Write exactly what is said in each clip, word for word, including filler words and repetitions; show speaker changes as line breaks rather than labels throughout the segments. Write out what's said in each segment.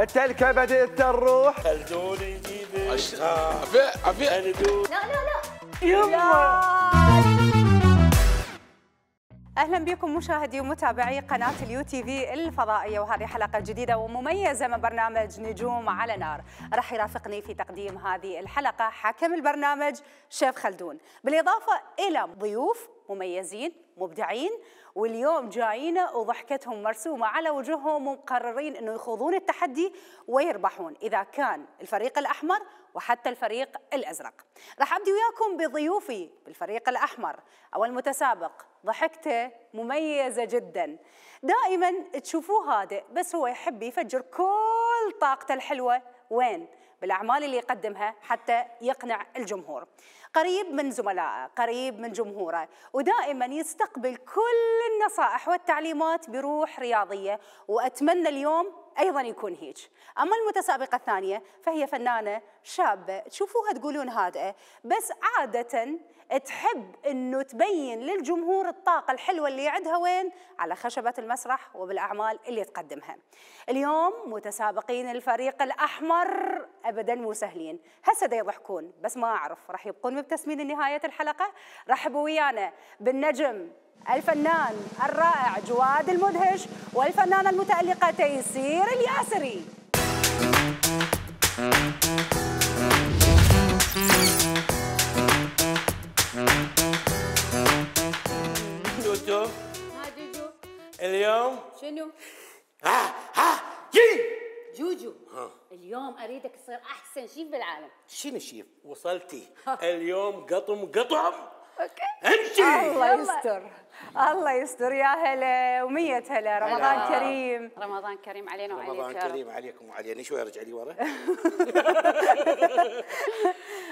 التلكة بدأت تروح.
خلدون يجيب
عفية عفية.
خلدون.
لا لا لا
يما.
اهلا بكم مشاهدي ومتابعي قناه اليو تي في الفضائيه، وهذه حلقه جديده ومميزه من برنامج نجوم على نار. راح يرافقني في تقديم هذه الحلقه حاكم البرنامج شيف خلدون، بالاضافه الى ضيوف مميزين مبدعين، واليوم جايين وضحكتهم مرسومه على وجوههم ومقررين انه يخوضون التحدي ويربحون اذا كان الفريق الاحمر وحتى الفريق الازرق. راح ابدي وياكم بضيوفي بالفريق الاحمر. اول متسابق ضحكته مميزه جدا، دائما تشوفوه هادئ بس هو يحب يفجر كل طاقته الحلوه وين؟ بالاعمال اللي يقدمها حتى يقنع الجمهور. قريب من زملائه، قريب من جمهوره، ودائما يستقبل كل النصائح والتعليمات بروح رياضيه، واتمنى اليوم ايضا يكون هيك. اما المتسابقه الثانيه فهي فنانه شابه تشوفوها تقولون هادئه بس عاده تحب انه تبين للجمهور الطاقه الحلوه اللي عندها وين؟ على خشبه المسرح وبالاعمال اللي تقدمها. اليوم متسابقين الفريق الاحمر ابدا مو سهلين، هسه دا يضحكون بس ما اعرف راح يبقون مبتسمين لنهايه الحلقه. رحبوا ويانا بالنجم الفنان الرائع جواد المدهش والفنانه المتألقه تيسير الياسري.
توتو.
ها جوجو.
اليوم
شنو؟
ها ها جي
جوجو. ها. اليوم اريدك تصير احسن شيف بالعالم.
شنو شيف؟ وصلتي. اليوم قطم قطم.
اوكي.
امشي.
الله يستر الله يستر. يا هلا ومية هلا. رمضان
هلا.
كريم.
رمضان كريم علينا وعليك.
رمضان كريم عليكم وعلينا. شوي ارجع لي ورا.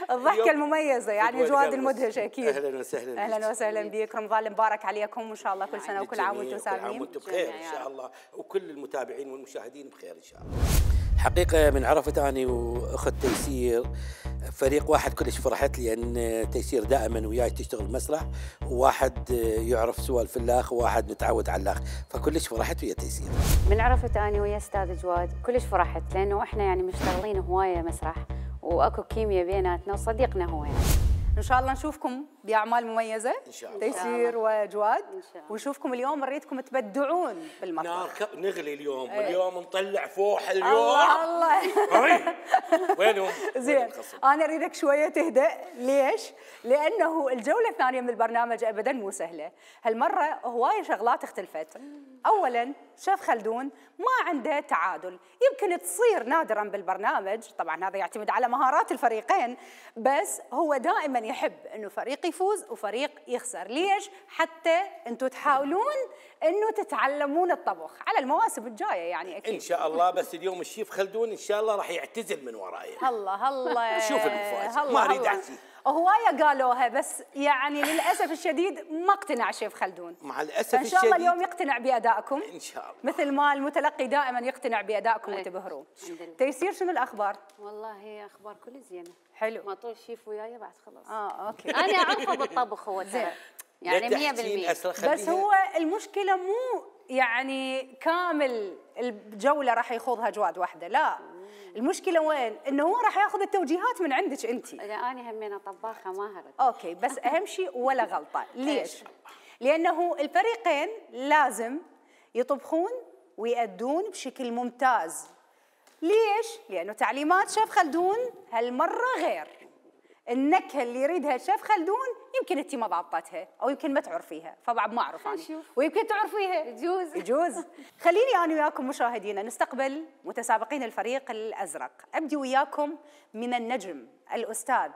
الضحكه المميزه يعني جواد المدهش اكيد.
اهلا وسهلا.
اهلا وسهلا بك. رمضان المبارك عليكم وان شاء الله كل سنه وكل عام وانتم
كل عام
سالمين.
وانتم بخير ان شاء الله، وكل المتابعين والمشاهدين بخير ان شاء الله. حقيقه من عرفت اني واخت تيسير فريق واحد كلش فرحت، لان تيسير دائما وياي تشتغل مسرح، وواحد يعرف سوى الفلاخ وواحد متعود على الاخ، فكلش فرحت ويا تيسير.
من عرفت اني ويا استاذ جواد كلش فرحت، لانه احنا يعني مشتغلين هوايه مسرح واكو كيمياء بيناتنا وصديقنا هو يعني.
ان شاء الله نشوفكم باعمال مميزه
ان شاء الله
تيسير وجواد،
إن شاء الله.
ونشوفكم اليوم نريدكم تبدعون بالمطبخ.
نار ك... نغلي اليوم. ايه. اليوم نطلع فوح اليوم.
الله الله.
وينهم؟
زين انا اريدك شويه تهدأ. ليش؟ لانه الجوله الثانيه من البرنامج ابدا مو سهله، هالمره هوايه شغلات اختلفت. اولا شيف خلدون ما عنده تعادل، يمكن تصير نادرا بالبرنامج، طبعا هذا يعتمد على مهارات الفريقين، بس هو دائما يحب انه فريق يفوز وفريق يخسر. ليش؟ حتى انتم تحاولون انه تتعلمون الطبخ على المواسم الجايه يعني اكيد
ان شاء الله. بس اليوم الشيف خلدون ان شاء الله راح يعتزل من وراي.
الله الله.
شوف المفاجأة، ما اريد احكي.
هوايه قالوها بس يعني للاسف الشديد ما اقتنع شيف خلدون.
مع الاسف
فان شاء الله
الشديد
اليوم يقتنع بادائكم
ان شاء الله،
مثل ما المتلقي دائما يقتنع بادائكم وتبهروه. تيسير شنو الاخبار؟
والله هي اخبار كل زينه.
حلو.
ما طول شيف وياي بعد خلاص.
اه اوكي.
انا اعرفه بالطبخ هو ترى يعني مية بالمية.
بس هو المشكله مو يعني كامل الجوله راح يخوضها جواد وحده، لا. المشكله وين؟ انه هو راح ياخذ التوجيهات من عندك انت.
اذا انا همينه طباخه ماهره.
اوكي بس اهم شيء ولا غلطه. ليش؟ لانه الفريقين لازم يطبخون ويأدون بشكل ممتاز. ليش؟ لانه تعليمات شيف خلدون هالمره غير. النكهه اللي يريدها الشيف خلدون يمكن انت ما ضابطتها او يمكن ما تعرفيها، فبعد ما اعرف انا، ويمكن تعرفيها.
يجوز
يجوز. خليني انا وياكم مشاهدينا نستقبل متسابقين الفريق الازرق. ابدي وياكم من النجم الاستاذ.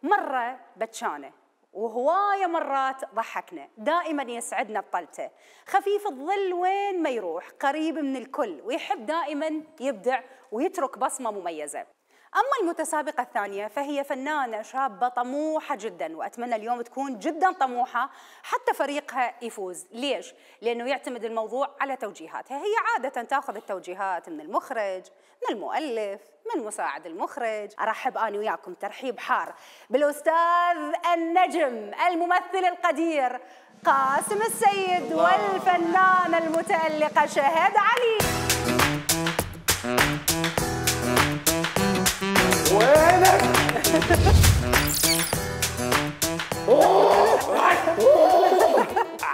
مره بتشانه وهوايه مرات ضحكنا، دائما يسعدنا بطلته، خفيف الظل وين ما يروح، قريب من الكل، ويحب دائما يبدع ويترك بصمه مميزه. أما المتسابقة الثانية فهي فنانة شابة طموحة جدا، وأتمنى اليوم تكون جدا طموحة حتى فريقها يفوز. ليش؟ لأنه يعتمد الموضوع على توجيهاتها. هي عادة تأخذ التوجيهات من المخرج، من المؤلف، من مساعد المخرج. أرحب أنا وياكم ترحيب حار بالأستاذ النجم الممثل القدير قاسم السيد والفنانة المتألقة شهد علي.
وينك؟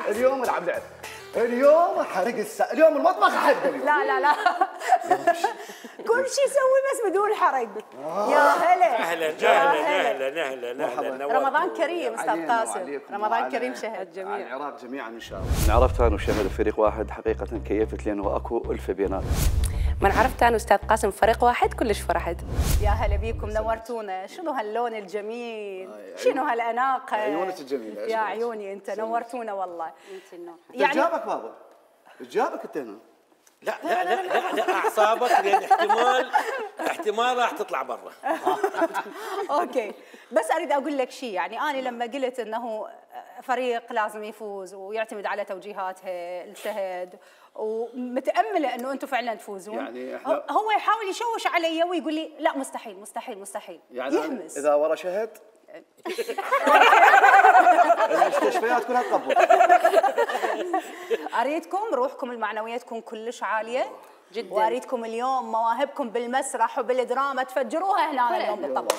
اليوم العب لعب. اليوم حرق السا اليوم المطبخ احرقه اليوم.
لا لا لا كل شيء يسوي بس بدون حرق. يا هلا
اهلا اهلا اهلا اهلا اهلا.
رمضان كريم استاذ قاسم. رمضان كريم شهد
جميع العراق جميعا ان شاء الله. من عرفت انا وشهد فريق واحد حقيقه كيفت لانه اكو الفه بيناتنا.
من عرفت انا استاذ قاسم فريق واحد كلش فرحت.
يا هلا بيكم نورتونا. شنو هاللون الجميل؟ شنو هالاناقه؟
عيونك الجميله
يا عيوني انت نورتونا والله.
انت النور.
يعني جابك بابا جابك انت هنا.
لا لا لا لا, لا اعصابك لان احتمال احتمال راح تطلع برا.
اوكي بس اريد اقول لك شيء. يعني انا لما قلت انه فريق لازم يفوز ويعتمد على توجيهاتها الشهد ومتامله انه انتم فعلا تفوزون. يعني احنا هو يحاول يشوش علي ويقول لي لا مستحيل مستحيل مستحيل.
يعني
يهمس.
اذا ورا شهد المستشفيات كلها تقبل.
اريدكم روحكم المعنويه تكون كلش عاليه جدا. واريدكم اليوم مواهبكم بالمسرح وبالدراما تفجروها هنا اليوم بالطبع.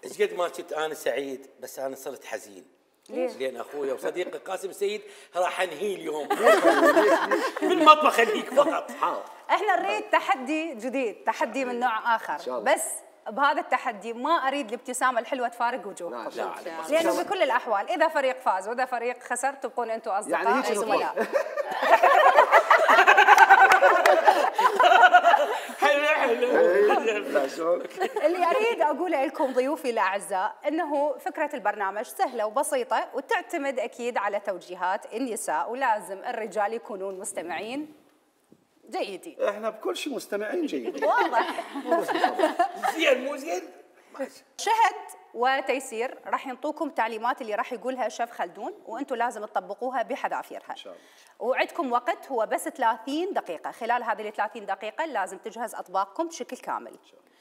ايش قد ما كنت انا سعيد بس انا صرت حزين. ليش؟ لان اخويا وصديقي قاسم سيد راح انهيه اليوم. بالمطبخ انهيك فقط.
احنا نريد تحدي جديد، تحدي من نوع اخر، بس بهذا التحدي ما اريد الابتسامه الحلوه تفارق وجوهكم. لا لا لانه بكل الاحوال اذا فريق فاز واذا فريق خسر تبقون انتم اصدقاء
يعني
زملاء.
حلو حلو.
اللي اريد اقوله لكم ضيوفي الاعزاء انه فكره البرنامج سهله وبسيطه وتعتمد اكيد على توجيهات النساء ولازم الرجال يكونون مستمعين جيدين.
احنا بكل شيء مستمعين جيدين.
واضح.
زين مو زين.
شهد وتيسير راح ينطوكم تعليمات اللي راح يقولها شيف خلدون وانتم لازم تطبقوها بحذافيرها. ان شاء الله. وعندكم وقت هو بس ثلاثين دقيقة، خلال هذه ال ثلاثين دقيقة لازم تجهز اطباقكم بشكل كامل. ان شاء الله.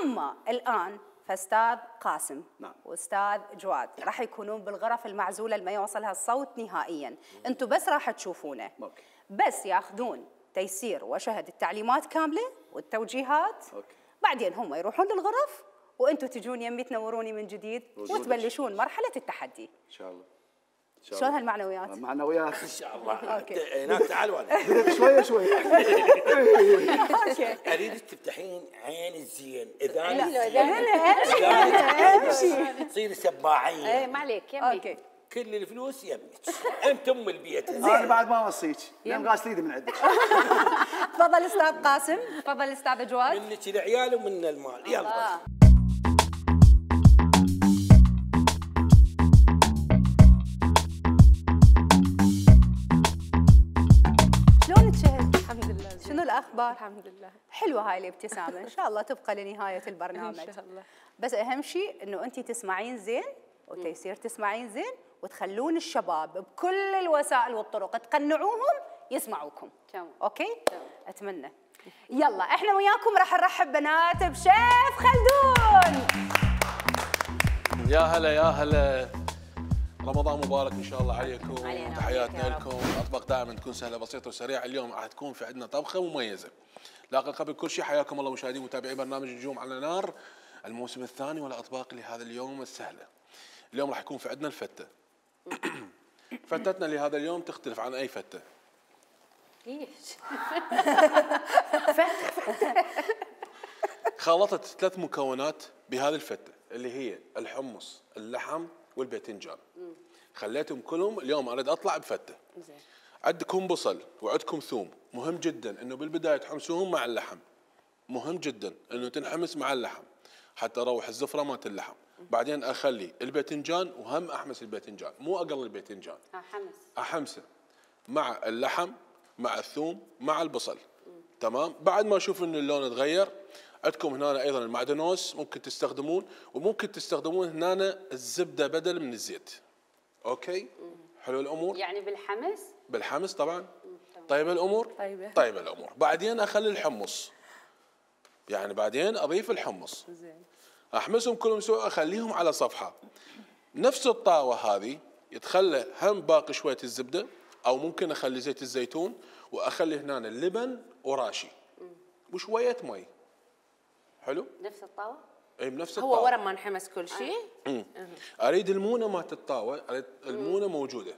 اما الان فاستاذ قاسم نعم. واستاذ جواد راح يكونون بالغرف المعزولة اللي ما يوصلها الصوت نهائيا، انتم بس راح تشوفونه. أوكي. بس ياخذون تيسير وشهد التعليمات كاملة والتوجيهات. أوكي. بعدين هم يروحون للغرف وانتم تجون يمي تنوروني من جديد وتبلشون مرحله التحدي ان شاء الله. شلون هالمعنويات؟
معنويات
ان شاء الله. هناك تعالوا
شويه شويه.
اريدك تفتحين عين الزين اذا
امشي
تصير سباعين.
اي ما عليك يمي. اوكي
كل الفلوس يمك انت ام البيت.
انا بعد ما اوصيك لان غاسل ايدي من عندك.
تفضل استاذ قاسم. تفضل استاذ جواد.
منك العيال ومن المال. يلا
شنو الاخبار؟
الحمد لله.
حلوه هاي الابتسامه ان شاء الله تبقى لنهايه البرنامج ان شاء الله. بس اهم شيء انه انت تسمعين زين وتيسير تسمعين زين وتخلون الشباب بكل الوسائل والطرق تقنعوهم يسمعوكم. تمام اوكي؟ تمام. اتمنى. يلا احنا وياكم راح نرحب بنات بشيف خلدون.
يا هلا يا هلا. رمضان مبارك ان شاء الله عليكم. تحياتنا لكم. الاطباق دائما تكون سهله بسيطه وسريعه. اليوم راح تكون في عندنا طبخه مميزه. لكن قبل كل شيء حياكم الله مشاهدين ومتابعي برنامج نجوم على نار الموسم الثاني والاطباق لهذا اليوم السهله. اليوم راح يكون في عندنا الفته. فتتنا لهذا اليوم تختلف عن اي فته.
ليش؟
خلطت ثلاث مكونات بهذه الفته اللي هي الحمص، اللحم والباذنجان. خليتهم كلهم اليوم اريد اطلع بفته. زين. عندكم بصل وعندكم ثوم، مهم جدا انه بالبدايه تحمسوهم مع اللحم. مهم جدا انه تنحمس مع اللحم حتى اروح الزفره مالت اللحم. بعدين اخلي الباذنجان وهم احمس الباذنجان، مو اقل الباذنجان.
احمس.
احمسه مع اللحم مع الثوم مع البصل. مم. تمام؟ بعد ما اشوف ان اللون تغير، عندكم هنا ايضا المعدنوس ممكن تستخدمون، وممكن تستخدمون هنا الزبده بدل من الزيت. اوكي؟ مم. حلو الامور؟
يعني بالحمس؟
بالحمس طبعا. طيب الامور؟
طيبه.
طيب الامور. بعدين اخلي الحمص. يعني بعدين اضيف الحمص. زين. احمسهم كلهم سوا، اخليهم على صفحه. نفس الطاوه هذه يتخلى هم باقي شويه الزبده، او ممكن اخلي زيت الزيتون واخلي هنا اللبن وراشي. مم. وشويه مي. حلو؟
نفس الطاوه؟
اي بنفس
هو
الطاوه.
ورا ما انحمس كل شيء.
اريد المونه مالت الطاوه، اريد المونه موجوده.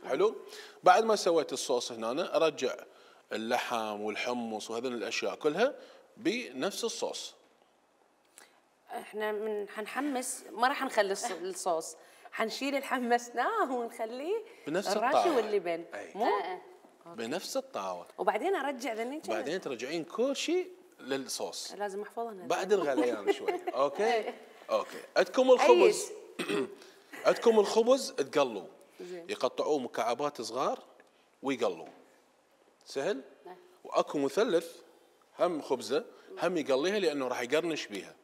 حلو. بعد ما سويت الصوص هنا ارجع اللحم والحمص وهذول الاشياء كلها بنفس الصوص.
احنا من حنحمس ما راح نخلي الص- الصوص، حنشيل اللي حمسناه ونخليه
بنفس
الراشي
الطاوة.
واللبن.
أي.
مو
بنفس الطاوه.
وبعدين ارجع ذني كذا.
بعدين ترجعين كل شيء للصوص
لازم احفظها أنا.
بعد الغليان شوي. اوكي اوكي. عندكم الخبز. عندكم الخبز تقلوا، يقطعوه مكعبات صغار ويقلوا. سهل. واكو مثلث هم خبزه هم يقليها لانه راح يقرنش بيها.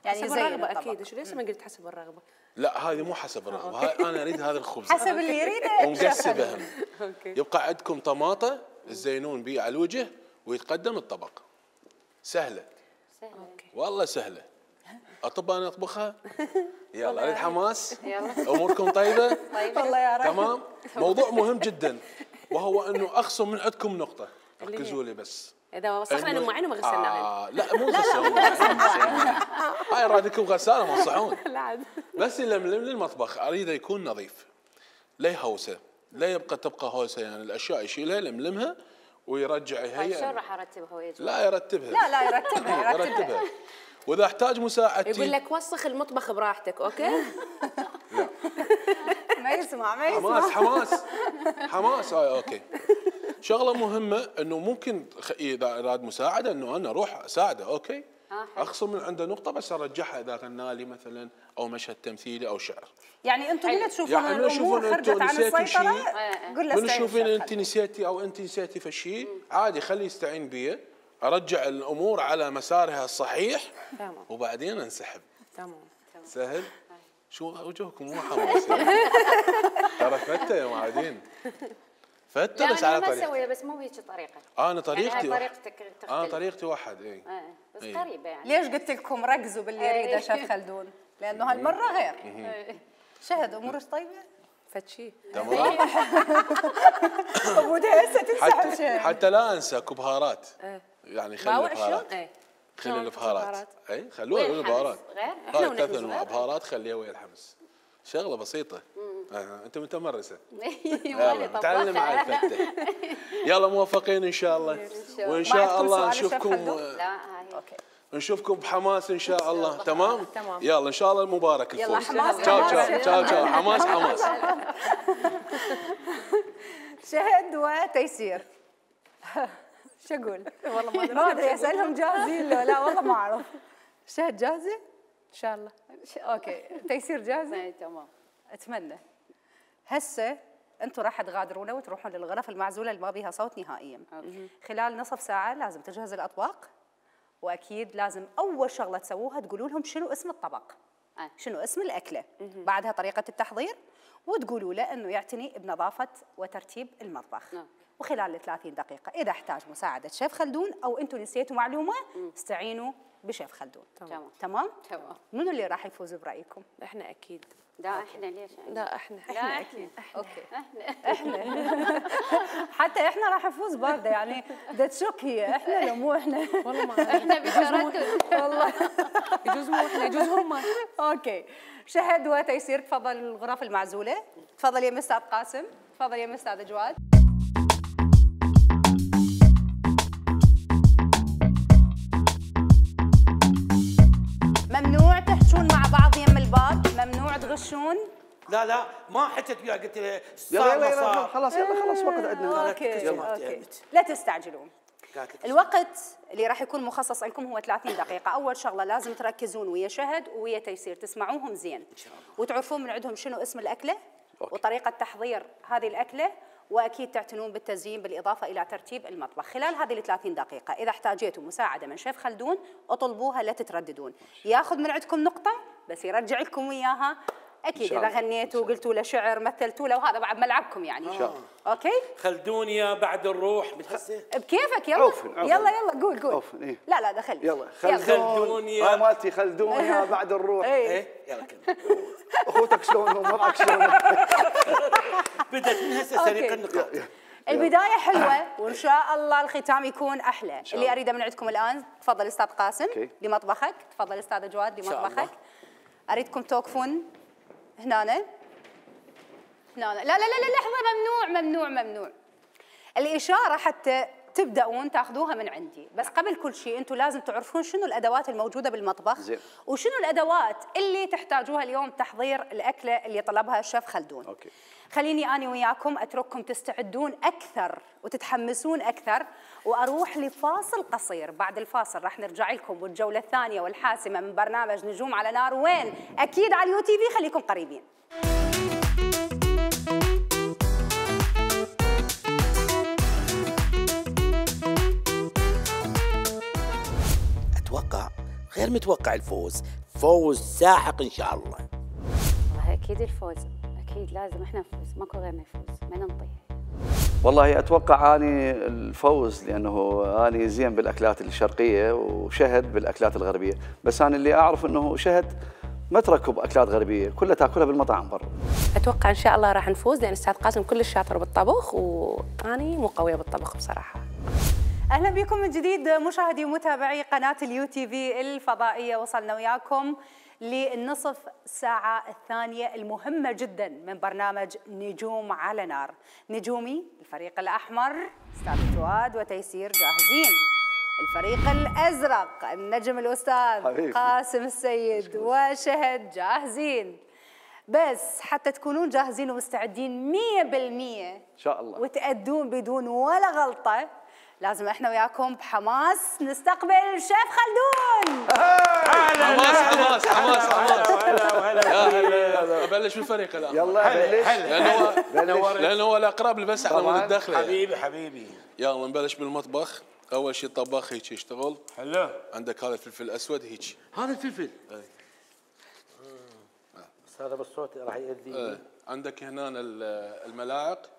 يعني
حسب
زي
الرغبه
الطبق.
اكيد. ايش ليش ما قلت حسب الرغبه؟
لا هذه مو حسب الرغبه، هاي انا اريد هذا الخبز
حسب اللي يريده
ومقسبه هم.
اوكي.
يبقى عندكم طماطه تزينون بيه على الوجه ويتقدم الطبق. سهله
اوكي.
والله سهله. اطب انا اطبخها. يلا اريد حماس.
يلا.
اموركم طيبه.
والله يا رب.
تمام. موضوع مهم جدا وهو انه اخصم من عندكم نقطه، ركزوا لي بس.
اذا وسخنا
إنه-
المواعين وما غسلناهن.
آه لا مو غسالة. هاي رادكم غساله موصحون.
لا عاد.
بس يلملم لي المطبخ اريده يكون نظيف، لا يهوسه، لا يبقى تبقى هوسه، يعني الاشياء يشيلها يلملمها ويرجع
طيب شلون
يهيئ.
راح ارتبها ويا جماعة؟
لا يرتبها.
لا لا يرتبها يرتبها.
يرتبها. واذا احتاج مساعدتي
يقول لك وسخ المطبخ براحتك. اوكي.
ما يسمع ما يسمع.
حماس حماس حماس. هاي اوكي. شغله مهمه انه ممكن خ- اذا اراد مساعده انه انا اروح اساعده. اوكي.
آه، حلو.
اخصم من عنده نقطه بس ارجعها اذا غنى لي مثلا او مشهد تمثيلي او شعر.
يعني انتم من تشوفون
يعني من
الامور
يشوفون
خرجت
أنتم
عن
نسيتوا
السيطره
شيء،
قول له
من
استعين
تشوفين
بالشيخ
انت
خالد.
نسيتي او انت نسيتي في شيء عادي خليه يستعين بي، ارجع الامور على مسارها الصحيح
تمام.
وبعدين انسحب.
تمام.
سهل. شو وجهكم مو حماس يعني. ترى فته يا معادين. فته
لا
بس
انا
على
ما
طريقتي.
اسويها بس مو هيك طريقه.
انا
يعني
طريقتي
هاي
واحد.
طريقتك تختلف.
انا طريقتي واحد. اي
آه، بس
إيه.
قريبه يعني.
ليش قلت لكم ركزوا باللي يريده شيف خلدون؟ لانه هالمره غير. شهد امورك طيبه؟
فتشي.
تمام.
ابو هسه تنسحب
حتى
شيء.
حتى لا انسى كبهارات. يعني خلي
باوع شو؟
البهارات.
ايه.
خلي
شلون
البهارات.
البهارات؟
اي خلوها
وين
البهارات.
الحمص؟ غير؟
إحنا
هاي
ونحن
ثلاث انواع
صغار.
بهارات خليها ويا الحمص. شغله بسيطه. آه. انت متمرسه.
يلا
يلا تعلم على الفته. يلا موفقين ان شاء الله. وان
ما
شاء
عندكم
الله
سؤال للشيف
نشوفكم
خلدون؟
لا هاي
اوكي.
نشوفكم بحماس ان شاء الله. تمام.
تمام.
يلا ان شاء الله مبارك
يلا
الفوز.
حماس،
تشاو
حماس.
تشاو تشاو تشاو حماس حماس.
شهد وتيسير. شو اقول؟ والله ما ادري ما ادري اسالهم جاهزين لو لا والله ما اعرف. شهد جاهزه؟ ان شاء الله. ش- اوكي تيسير جاهزه؟
هاي تمام.
اتمنى. هسه انتم راح تغادرونا وتروحون للغرف المعزوله اللي ما بيها صوت نهائيا.
أوكي.
خلال نصف ساعه لازم تجهز الاطباق، واكيد لازم اول شغله تسووها تقولوا لهم شنو اسم الطبق،
آه.
شنو اسم الاكله، بعدها طريقه التحضير، وتقولوا له انه يعتني بنظافه وترتيب المطبخ.
نعم.
وخلال ال ثلاثين دقيقه اذا احتاج مساعده شيف خلدون او انتم نسيتوا معلومه استعينوا بشيف خلدون.
تمام.
تمام؟
تمام.
منو اللي راح يفوز برايكم؟
احنا اكيد.
لا احنا ليش؟
لا احنا.
لا احنا.
اوكي.
احنا.
حتى احنا راح نفوز بارده يعني ده تشك هي احنا لو مو احنا.
والله ما
احنا بتردد.
والله.
يجوز مو احنا يجوز هم.
اوكي. شهد وتيسير تفضل الغرف المعزوله. تفضل يا استاذ قاسم، تفضل يا استاذ جواد. ممنوع تحجون مع بعض يم الباب، ممنوع تغشون.
لا لا ما حكيت وياه قلت له
يلا
صار
يلا
ما
يلا
صار.
خلاص يلا خلاص وقت عندنا.
اوكي
جماعتي
اوكي.
قلت.
لا تستعجلون.
قالت لك
الوقت اللي راح يكون مخصص لكم هو ثلاثين دقيقة، أول شغلة لازم تركزون ويا شهد ويا تيسير، تسمعوهم زين إن شاء الله. وتعرفون من عندهم شنو اسم الأكلة
أوكي.
وطريقة تحضير هذه الأكلة، وأكيد تعتنون بالتزيين بالإضافة إلى ترتيب المطبخ. خلال هذه ال ثلاثين دقيقة إذا احتاجيتوا مساعدة من شيف خلدون اطلبوها لا تترددون، ياخذ من عندكم نقطة بس يرجع لكم إياها. أكيد
شاء
إذا
الله.
غنيتوا وقلتوا له شعر مثلتوا له وهذا بعد ملعبكم يعني.
إن شاء الله.
أوكي؟
خلدوني يا بعد الروح بتحسه
بكيفك يلا.
عوفن، عوفن.
يلا يلا قول قول.
عوفن، إيه.
لا لا دخل.
يلا
خلدون
خلدون
يا-
هاي مالتي خلدون يا بعد الروح.
ايه
ايه يلا كمل.
اخوتك شلونهم وضعك شلون؟
بدت من هسه سريق النقاط.
البدايه حلوه وان شاء الله الختام يكون احلى. اللي اريده من عندكم الان، تفضل استاذ قاسم
أوكي.
لمطبخك، تفضل استاذ جواد لمطبخك.
الله.
اريدكم توقفون هنا هنا لا لا لا لا لحظه، ممنوع ممنوع ممنوع. الاشاره حتى تبداون تاخذوها من عندي، بس قبل كل شيء انتم لازم تعرفون شنو الادوات الموجوده بالمطبخ
زين.
وشنو الادوات اللي تحتاجوها اليوم تحضير الاكله اللي طلبها الشيف خلدون.
أوكي.
خليني اني وياكم اترككم تستعدون اكثر وتتحمسون اكثر، واروح لفاصل قصير. بعد الفاصل راح نرجع لكم والجوله الثانيه والحاسمه من برنامج نجوم على نار، وين؟ اكيد على اليو تي في، خليكم قريبين.
اتوقع غير متوقع الفوز، فوز ساحق ان شاء الله.
والله اكيد الفوز، اكيد لازم احنا نفوز، ماكو غيرنا يفوز، ما ننطيح.
والله اتوقع اني الفوز، لانه اني زين بالاكلات الشرقيه وشهد بالاكلات الغربيه، بس انا اللي اعرف انه شهد ما تركب اكلات غربيه، كلها تاكلها بالمطاعم برا.
اتوقع ان شاء الله راح نفوز، لان استاذ قاسم كلش شاطر بالطبخ واني مو قويه بالطبخ بصراحه.
اهلا بكم من جديد مشاهدي ومتابعي قناه اليو تي في الفضائيه. وصلنا وياكم للنصف ساعه الثانيه المهمه جدا من برنامج نجوم على نار. نجومي الفريق الاحمر استاذ جواد وتيسير جاهزين، الفريق الازرق النجم الاستاذ
حبيبي.
قاسم السيد وشهد جاهزين. بس حتى تكونون جاهزين ومستعدين مية بالمية
ان شاء الله
وتأدون بدون ولا غلطة، لازم احنا وياكم بحماس نستقبل الشيف خلدون.
حماس حماس حماس حماس.
هلا وهلا.
ابلش بالفريق الان.
يلا بلش.
لانه هو لانه هو الاقرب لي، بس على مود الدخله.
حبيبي حبيبي.
يلا نبلش بالمطبخ. اول شيء الطباخ هيك يشتغل.
حلو.
عندك هذا الفلفل الاسود هيك.
هذا الفلفل. بس هذا بالصوت راح يأذيني.
ايه. عندك هنا الملاعق،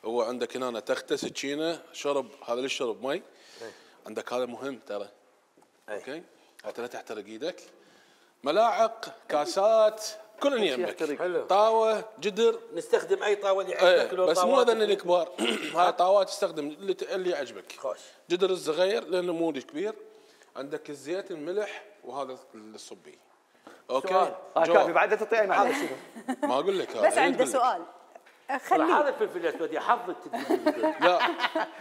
هو عندك هنا تخته سكينه شرب، هذا للشرب مي. عندك هذا مهم ترى. اوكي حتى لا تحترق ايدك. ملاعق، كاسات، كلن يمك.
حلو.
طاوه، جدر.
نستخدم اي طاوه اللي
ايه
عندك.
بس مو هذا الكبار. هاي طاوات تستخدم اللي اللي يعجبك.
خوش.
جدر الصغير لانه مو كبير. عندك الزيت، الملح، وهذا الصبي. اوكي
اه كافي بعد لا تعطي اي معلومه.
ما اقول لك هذا
بس عنده سؤال خليه.
هذا الفلفل الاسود يا حظ
لا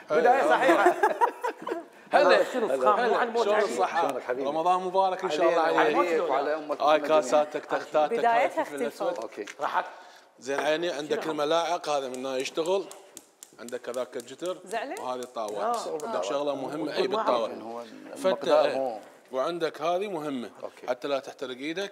بدايه صحيحه.
هلا شنو فخام مو عن موت
شلون
عجيب.
الصحة؟
شلونك حبيبي؟
رمضان مبارك ان شاء الله عليك.
عليك وعلى امك.
هاي كاساتك، تختاتك،
بدايتها
هاي الفلفل
اختلفوا.
الاسود.
اوكي
راحت
زين عيني. عندك الملاعق، هذا من هنا يشتغل. عندك هذاك الجتر
زعلت؟
وهذه الطاوات. عندك شغله مهمه اي
هو
بالطاوه
المقدار
فتة.
مو-
وعندك هذه مهمه
أوكي.
حتى لا تحترق ايدك.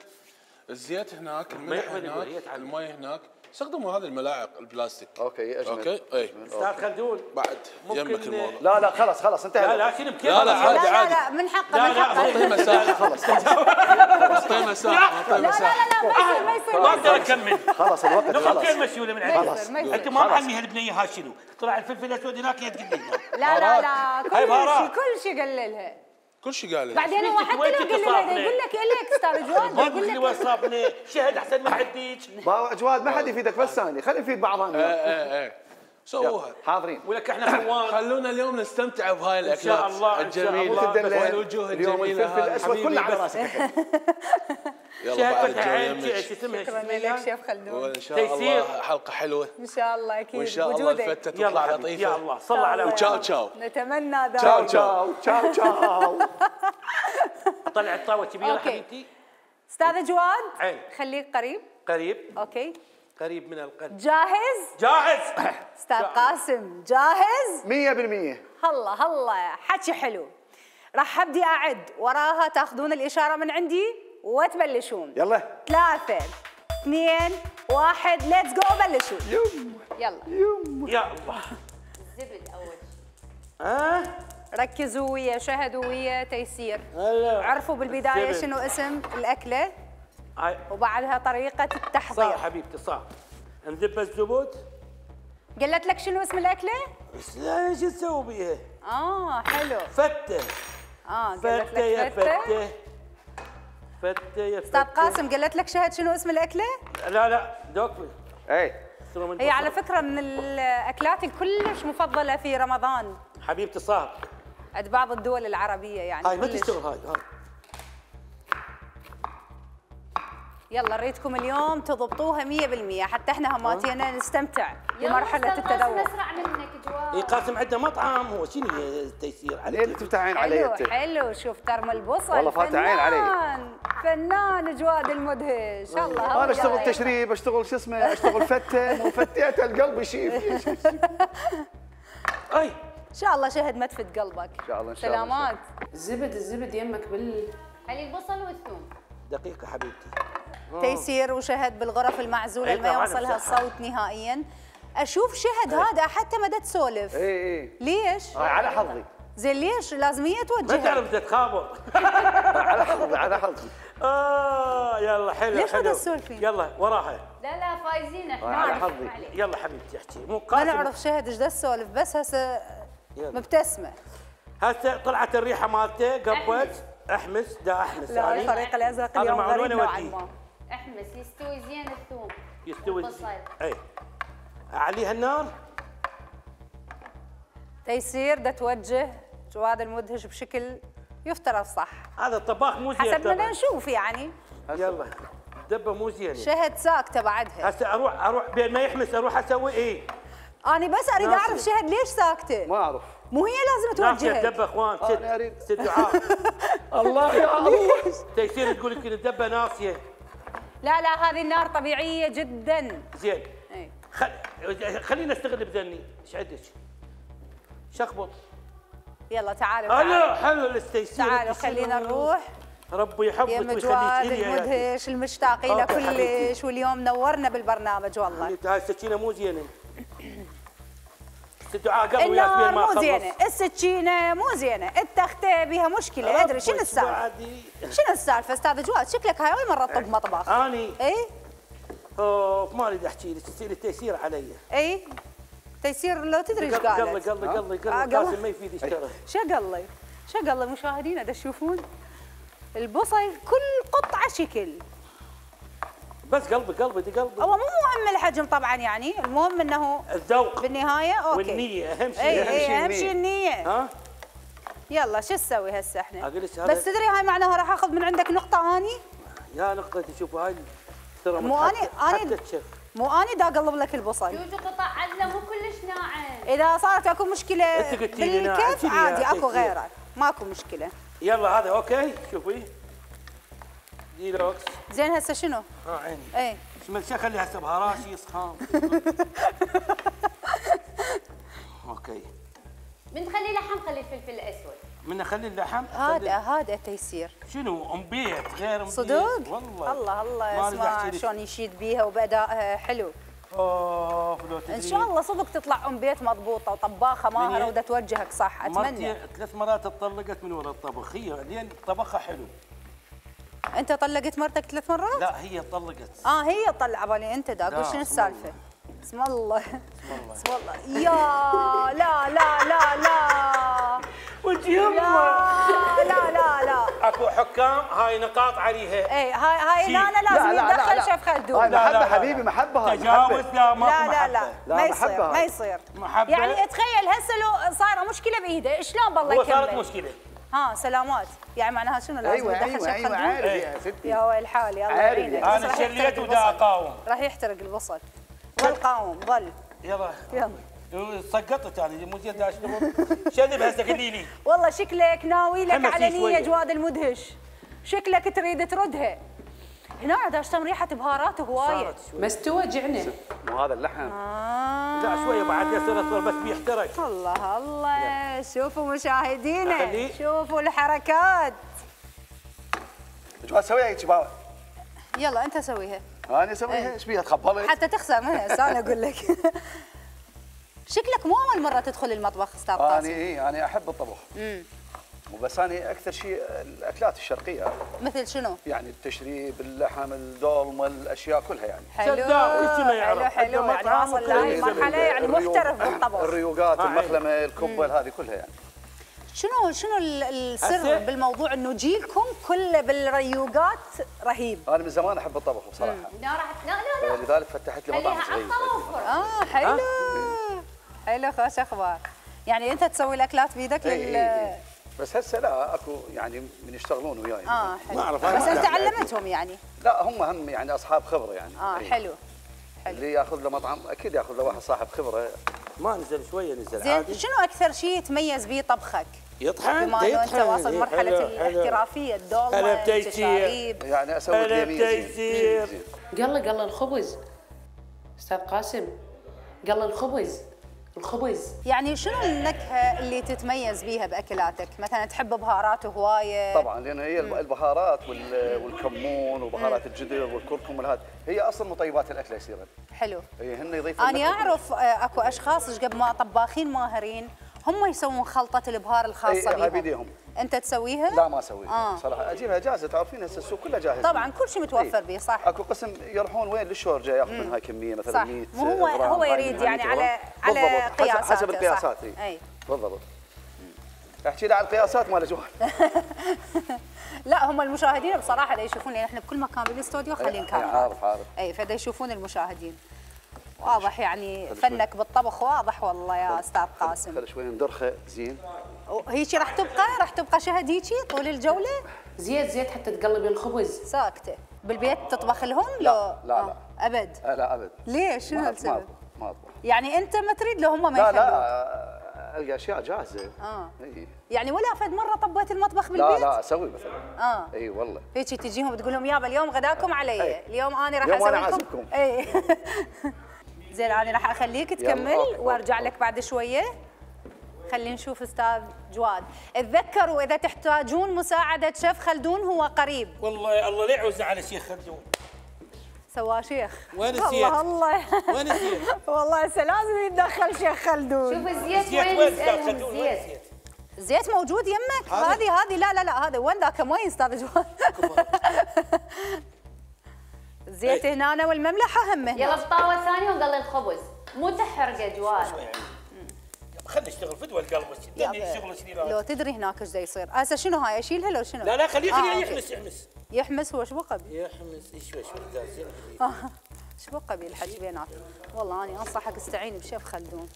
الزيت هناك، الملح
وين يقول؟ هي
هناك،
تعال.
المي هناك. استخدموا هذه الملاعق البلاستيك.
اوكي اجمل.
اوكي اي
استاذ خلدون
بعد
ممكن-
يمك الموضوع.
لا لا خلاص خلاص انتهى.
لا لا شنو بكيف.
لا، لا،
لا
عادي،
لا
عادي.
لا من حقه
لا،
من
لا،
حقه.
اعطيه مساحه.
خلاص
اعطيه مساحه. اعطيه
لا لا
مساحه.
لا لا ما يصير ما يصير
ما اقدر اكمل.
خلاص الوقت
نقول
خلاص.
كلمه شوله من
ما
عندك.
يصير ما يصير.
انت ما محمي هالبنيه ها شنو؟ طلع الفلفل الاسود هناك يا تقول لي
لا لا لا
هاي
كل شيء
بهارات.
كل شيء قللها.
كل شيء قال لي.
بعدين هو حتى
وين
لو
كنت
قللها
صافنة؟
يقول لك الك استاذ جواد
ما
يقول
تقول لي
لك
وصفني شهد احسن من حديك.
با- جواد ما حد يفيدك بس ثاني، خلينا نفيد بعضنا.
ايه ايه ايه سووها.
حاضرين.
ولك احنا فوان.
خلونا اليوم نستمتع بهاي
إن
الاكلات
شاء الله، إن شاء
الجميله
الله.
تدلل.
والوجوه
اليوم
الجميله
الفلفل
هذه.
الاسود
حبيبي
كله على
بس.
راسك.
يلا
شهد
بعد
فتح
الجو
عين
يمك.
شو اسمها
شكرا
شو
لك
اسمها؟
شيف خلدون.
وان شاء
تيسير.
الله حلقه حلوه.
ان شاء الله اكيد
وان شاء الله
وجودك.
الفتة
يلا
تطلع
حبيبي،
لطيفه.
يا الله صل على
وتشاو تشاو.
نتمنى ذلك.
تشاو
تشاو تشاو تشاو.
اطلع الطاوه كبيره
أوكي.
حبيبتي.
استاذ جواد
عين.
خليك قريب.
قريب
اوكي
قريب من القلب.
جاهز؟
جاهز.
استاذ قاسم جاهز؟
مية بالمية.
هلا هلا حكي حلو. راح ابدي اعد وراها تاخذون الاشاره من عندي وتبلشون.
يلا.
ثلاثة اثنين واحد ليتس جو بلشوا.
يم
يلا
يم.
يا الله.
الزبد اول شيء.
ها
ركزوا ويا شهدوا ويا تيسير.
هلا.
عرفوا بالبدايه
الزبد.
شنو اسم الاكله
هاي
وبعدها طريقه التحضير.
صح حبيبتي صح. نذب الزبود.
قلت لك شنو اسم الاكله؟
بس لا ايش نسوي بيها؟
اه حلو.
فتة.
اه قلت
فتة يا
لك فتة.
فتة. فتة يا فتة.
استاذ قاسم قلت لك شهد شنو اسم الاكله؟
لا لا دوك.
اي
هي على فكره من الاكلات الكلش مفضله في رمضان
حبيبتي صاحب
عند بعض الدول العربيه يعني.
هاي ما
كلش.
تشتغل هاي هاي.
يلا نريدكم اليوم تضبطوها مية بالمية حتى احنا هماتينا نستمتع بمرحله التذوق.
اسرع منك جواد.
اي قاسم عنده مطعم هو شنو التيسير
ليه اللي تفتح عين علي
حلو
انت؟
حلو. شوف ترمى البصل
والله فاتح عين علي.
فنان فنان جواد المدهش. الله
انا اشتغل تشريب، اشتغل شو اسمه، اشتغل فته، وفتيت القلب يشيف.
اي
ان شاء الله شهد ما تفت قلبك.
ان شاء الله ان شاء الله.
سلامات.
الزبد الزبد يمك بال
خلي البصل والثوم.
دقيقه حبيبتي.
تيسير وشهد بالغرف المعزوله
أي
اللي ما
طبعاً
يوصلها
بصحة.
الصوت نهائيا. اشوف شهد هذا حتى ما دا تسولف.
اي اي
ليش؟
هاي على حظي،
زين ليش؟ لازم هي
ما
توجهها.
تعرف تتخابر.
على حظي على حظي.
اه يلا حلو
ليش ما
حلو.
تسولفين؟
يلا وراها.
لا لا فايزين احنا.
على
ما
حظي.
عليك.
يلا حبيبتي احكي مو
ما
قاسم.
نعرف شهد ايش دا تسولف بس هسه
يلا.
مبتسمه.
هسه طلعت الريحه مالته قبت احمس دا احمس
لا
يعني.
الفريق الازرق
هذا
اليوم
معلومة
غريب نوعا
ودي.
ما.
احمس يستوي زين الثوم.
يستوي
البصل.
اي اعليها النار.
تيسير دا توجه جواد المدهش بشكل يفترض صح
هذا الطباخ مو زين
حسب ما
طبعاً.
نشوف يعني.
يلا دبه مو زين.
شهد ساكته بعدها.
هسه اروح اروح بين ما يحمس اروح اسوي ايه؟
انا بس اريد
ناصية.
اعرف شهد ليش ساكته؟
ما اعرف.
مو هي لازم
ناصية
توجهك.
دبه اخوان
أنا
ست
أريد.
ست دعاء.
الله يا الله.
تيسير تقول لك الدبه ناصيه.
لا لا هذه النار طبيعيه جدا.
زين
اي
خل... خلينا نستغل بذني ايش عندك؟ شخبط.
يلا تعالوا
هلا
تعالوا
حلو الاستيسير.
تعالوا خلينا نروح
ربي
يا
يحفظك
جواد
ويخليك لي يا
المدهش المشتاقين له
أوكي حبيبتي.
كلش واليوم نورنا بالبرنامج والله.
حبيبتي هاي السكينه مو زينه. ست دعاء قبل ويا
النار
سبيل ما
مو
خلص.
زينه، السكينه مو زينه، التخته بها مشكله ادري شنو السالفه؟
بعدي.
شنو السالفه استاذ جواد؟ شكلك هاي اول مره تطب مطبخ.
اني
اي
اوف ما اريد احكي لك تصير التيسير علي.
اي تيسير لو تدري ايش
قلي
قالت.
قلي قلي
آه،
قلي
قلي.
قاسم ما يفيد يشتغل.
شقلي شقلي مشاهدينا دا تشوفون البصل كل قطعه شكل.
بس قلبي قلبي دي قلبي.
هو مو مهم الحجم طبعا يعني، المهم انه
الذوق
بالنهايه اوكي.
والنية اهم شيء.
اي
أهم
اي
شيء
اهم
النية.
شيء النية.
ها
يلا شو نسوي هسه احنا؟
أقول لك هذا-
بس تدري هاي معناها راح اخذ من عندك نقطه اني؟
يا نقطة شوفوا هاي ترى
مو
متحت-
أنا- أنا-
حتى الشف.
مو اني دا اقلب لك البصل.
جوجو قطع عدله مو كلش ناعم.
اذا صارت اكو مشكله
أنت قلتي لي ناعم،
بالكف
شنو يا
عادي اكو
تيسير؟
غيره ماكو مشكله.
يلا هذا اوكي شوفي ديلوكس.
زين هسه شنو؟
ها عيني
اي
اسم الشيء خلي هسه بهاراشي يسخن. اوكي
من تخلي لحم خلي الفلفل الاسود.
من اخلي اللحم
هذا هذا تيسير
شنو ام بيت غير ام بيت.
صدق؟
والله
الله الله
ما أريد أحكي
اسمع
لك.
شلون يشيد بيها وبادائها حلو.
اوف لو تدري
ان شاء الله صدق تطلع ام بيت مضبوطه وطباخه ماهره
من-
ودا توجهك صح اتمنى.
مرتي ثلاث مرات اتطلقت من وراء الطبخ هي لين طبخها حلو.
انت طلقت مرتك ثلاث مرات؟
لا هي طلقت.
اه هي طلع بالي انت دا اقول
لا،
شنو
اسم
السالفه؟ اسم الله اسم الله يا لا لا لا لا
وجه
لا
يمه
لا لا لا
اكو حكام هاي نقاط عليها.
اي هاي هاي
شي.
لا لا لازم يتدخل شيف خلدون.
هاي
لا، لا،
محبه
لا.
حبيبي، محبه هاي
تجاوز
محبة.
لا ماكو
لا لا
محبة.
لا
لا،
ما
محبة
يصير
هاي.
ما يصير
محبة.
يعني تخيل هسه لو صايره مشكله بايده شلون بالله
هو صارت
يكمل؟
مشكله.
ها سلامات يعني معناها شنو لازم
ايوه
يتدخل
ايوه
شيف
ايوه
خلدون؟
عارف
إيه.
يا ستي.
يا ويل حالي الله
عارف
يعينك
يعني.
بس
انا
راح
شليت
يحترق
ودا
البصل.
اقاوم.
راح يحترق البصل ظل قاوم ظل
يلا
يلا
سقطت يعني مو زين دا اشتغل. شنب هسه قولي لي.
والله شكلك ناوي لك
حمسي
على نية
شوية.
جواد المدهش شكلك تريد تردها هنا دا اشتم ريحه بهارات هوايه.
صارت شوي.
مستوى جعنا.
مو هذا اللحم.
آه.
لا شويه بعد يصير اصفر بس بيحترق.
الله الله شوفوا مشاهدينا
أخليه.
شوفوا الحركات.
جواد سويها هيك باوع.
يلا انت سويها
انا اسويها ايش بيها تخبلت؟
حتى تخسر منها هسه انا اقول لك. شكلك مو اول مره تدخل المطبخ استاذ
انا
قاسم.
اي انا احب الطبخ.
امم
وبس انا اكثر شيء الاكلات الشرقيه،
مثل شنو؟
يعني التشريب، اللحم، الدولمه، الاشياء كلها يعني.
حلو
صدق، وش ما يعرف.
حلو حلو
عنده
يعني
مطعم
واصل لهي
وكل
المرحله يعني
الريوق-
محترف بالطبخ.
الريوقات،
آه،
المخلمه، الكبه هذه كلها يعني.
شنو شنو ال- السر
هسه؟
بالموضوع انه جيلكم كله بالريوقات رهيب؟
انا من زمان احب الطبخ بصراحه.
لا راح لا لا لا
لذلك فتحت لي مطعم
خليها
صغير.
عطوفر.
اه حلو حلو خوش اخبار. يعني انت تسوي الاكلات بيدك
إي
لل
إي إي. بس هسه لا اكو يعني من يشتغلون وياي.
اه حلو.
ما أعرف.
بس انت
لا.
علمتهم يعني.
لا هم هم يعني اصحاب خبره يعني.
اه
إي.
حلو حلو.
اللي ياخذ له مطعم اكيد ياخذ له واحد صاحب خبره.
ما نزل شويه نزل
زين
عادي.
شنو اكثر شيء يتميز به طبخك؟
يطحن
بما انه انت
يطحن.
واصل
إيه،
مرحله
حلو، حلو.
الاحترافيه الدولمه
هلا بتيسير.
التشاريب.
يعني اسوي
هلا
لي زين.
بتيسير.
زين.
قال له قال له الخبز استاذ قاسم قال له الخبز الخبز
يعني شنو النكهه اللي تتميز بيها باكلاتك؟ مثلا تحب بهارات هوايه؟
طبعا لان هي البهارات وال- والكمون وبهارات الجدر والكركم والهذا هي اصلا مطيبات الاكل يصيرن.
حلو.
هي هن يضيفون
انا
لك-
اعرف آه، اكو اشخاص إيش قبل ما طباخين ماهرين هم يسوون خلطه الابهار الخاصه
إي، هاي
بيهم.
بيديهم.
انت تسويها؟
لا ما اسويها
آه.
صراحه اجيبها جاهزه تعرفين هسه السوق كله جاهز.
طبعا كل شيء متوفر
إي.
به صح.
اكو قسم يروحون وين للشورجه ياخذ منها كميه مثلا
صح.
مية
مو هو
غرام،
هو
هاي
يريد
منها
يعني
مية
على
غرام.
على
بالضبط. حسب-
قياساته
حسب القياسات
صح.
اي
اي
بالضبط. احكي لي على القياسات مال جوال.
لا هم المشاهدين بصراحه دا يشوفون لان احنا بكل مكان بالاستوديو خالين
إي،
كاميرا.
عارف عارف.
اي فدا يشوفون المشاهدين. واضح يعني فنك بالطبخ واضح والله يا استاذ قاسم.
خلي شوي ندرخه زين.
هيجي راح تبقى راح تبقى شهد هيجي طول الجوله؟
زيت زيت حتى تقلبي الخبز.
ساكته. بالبيت تطبخ لهم؟
لا،
لو
لا،
آه، ابد.
آه، لا ابد.
ليش؟ شنو
ما-
السبب؟
ما أطبخ، ما اطبخ.
يعني انت ما تريد لو هم ما
لا
يخلوك؟
لا القى اشياء جاهزه.
اه
اي.
يعني ولا فد مره طبيت المطبخ
لا
بالبيت؟
لا اسوي مثلا.
اه
اي والله.
هيك تجيهم تقول لهم يابا اليوم غداكم علي،
أي.
اليوم انا راح
اليوم
اسوي
أنا
لكم
عازمكم.
اي زين انا راح اخليك تكمل
أوكي،
وارجع
أوكي.
لك بعد شويه. خلينا نشوف استاذ جواد. تذكروا اذا تحتاجون مساعده شيف خلدون هو قريب.
والله الله لا يعوزنا على شيخ خلدون.
سوا شيخ.
وين
والله
الزيت؟
الله
وين الزيت؟
والله هسه لازم يتدخل شيخ خلدون.
شوف الزيت
الزيت
وين
وين استاذ
نسألهم
خلدون؟ وين
الزيت.
الزيت؟
زيت موجود يمك؟
هذا؟
هذه هذه لا لا لا هذا وين ذاك وين استاذ جواد؟ زيت
أي.
هنا والمملحه هم
يلا
هنا.
بالطاوه الثانيه وقلي الخبز مو تحرقه جواد.
خلينا نشتغل فدوى القلب دني شغل شديد.
لو تدري هناك ايش دا يصير. هسه شنو هاي اشيلها لو شنو؟
لا لا خليه
آه،
خليه
أوكي.
يحمس يحمس
يحمس هو شو بقى بي؟
يحمس شوي شوي زين.
آه، شو بقى بي الحكي بينات؟ والله انا انصحك استعين بشيف خلدون.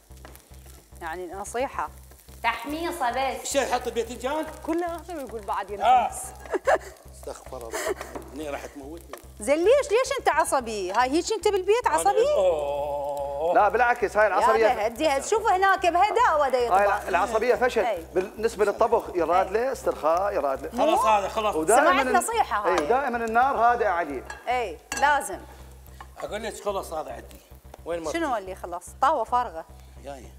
يعني نصيحه
تحميصه بس.
الشيء يحط الباذنجان
كلها يقول بعد
آه.
ينحمس.
استغفر الله هني راح تموتني.
زين ليش ليش انت عصبي؟ هاي هيك انت بالبيت عصبي؟
اوه
لا بالعكس هاي
يا
العصبيه
هدي شوف هناك بهداوه دا
هاي
يطبخ.
العصبيه فشل.
أي.
بالنسبه للطبخ يراد له استرخاء يراد له.
خلاص هذا خلاص.
سمعت نصيحة هاي.
اي دائما النار هادئه عليه.
اي لازم.
اقول لك خلاص هذا عندي. وين ما
شنو اللي خلص؟ طاوه فارغه.
جايه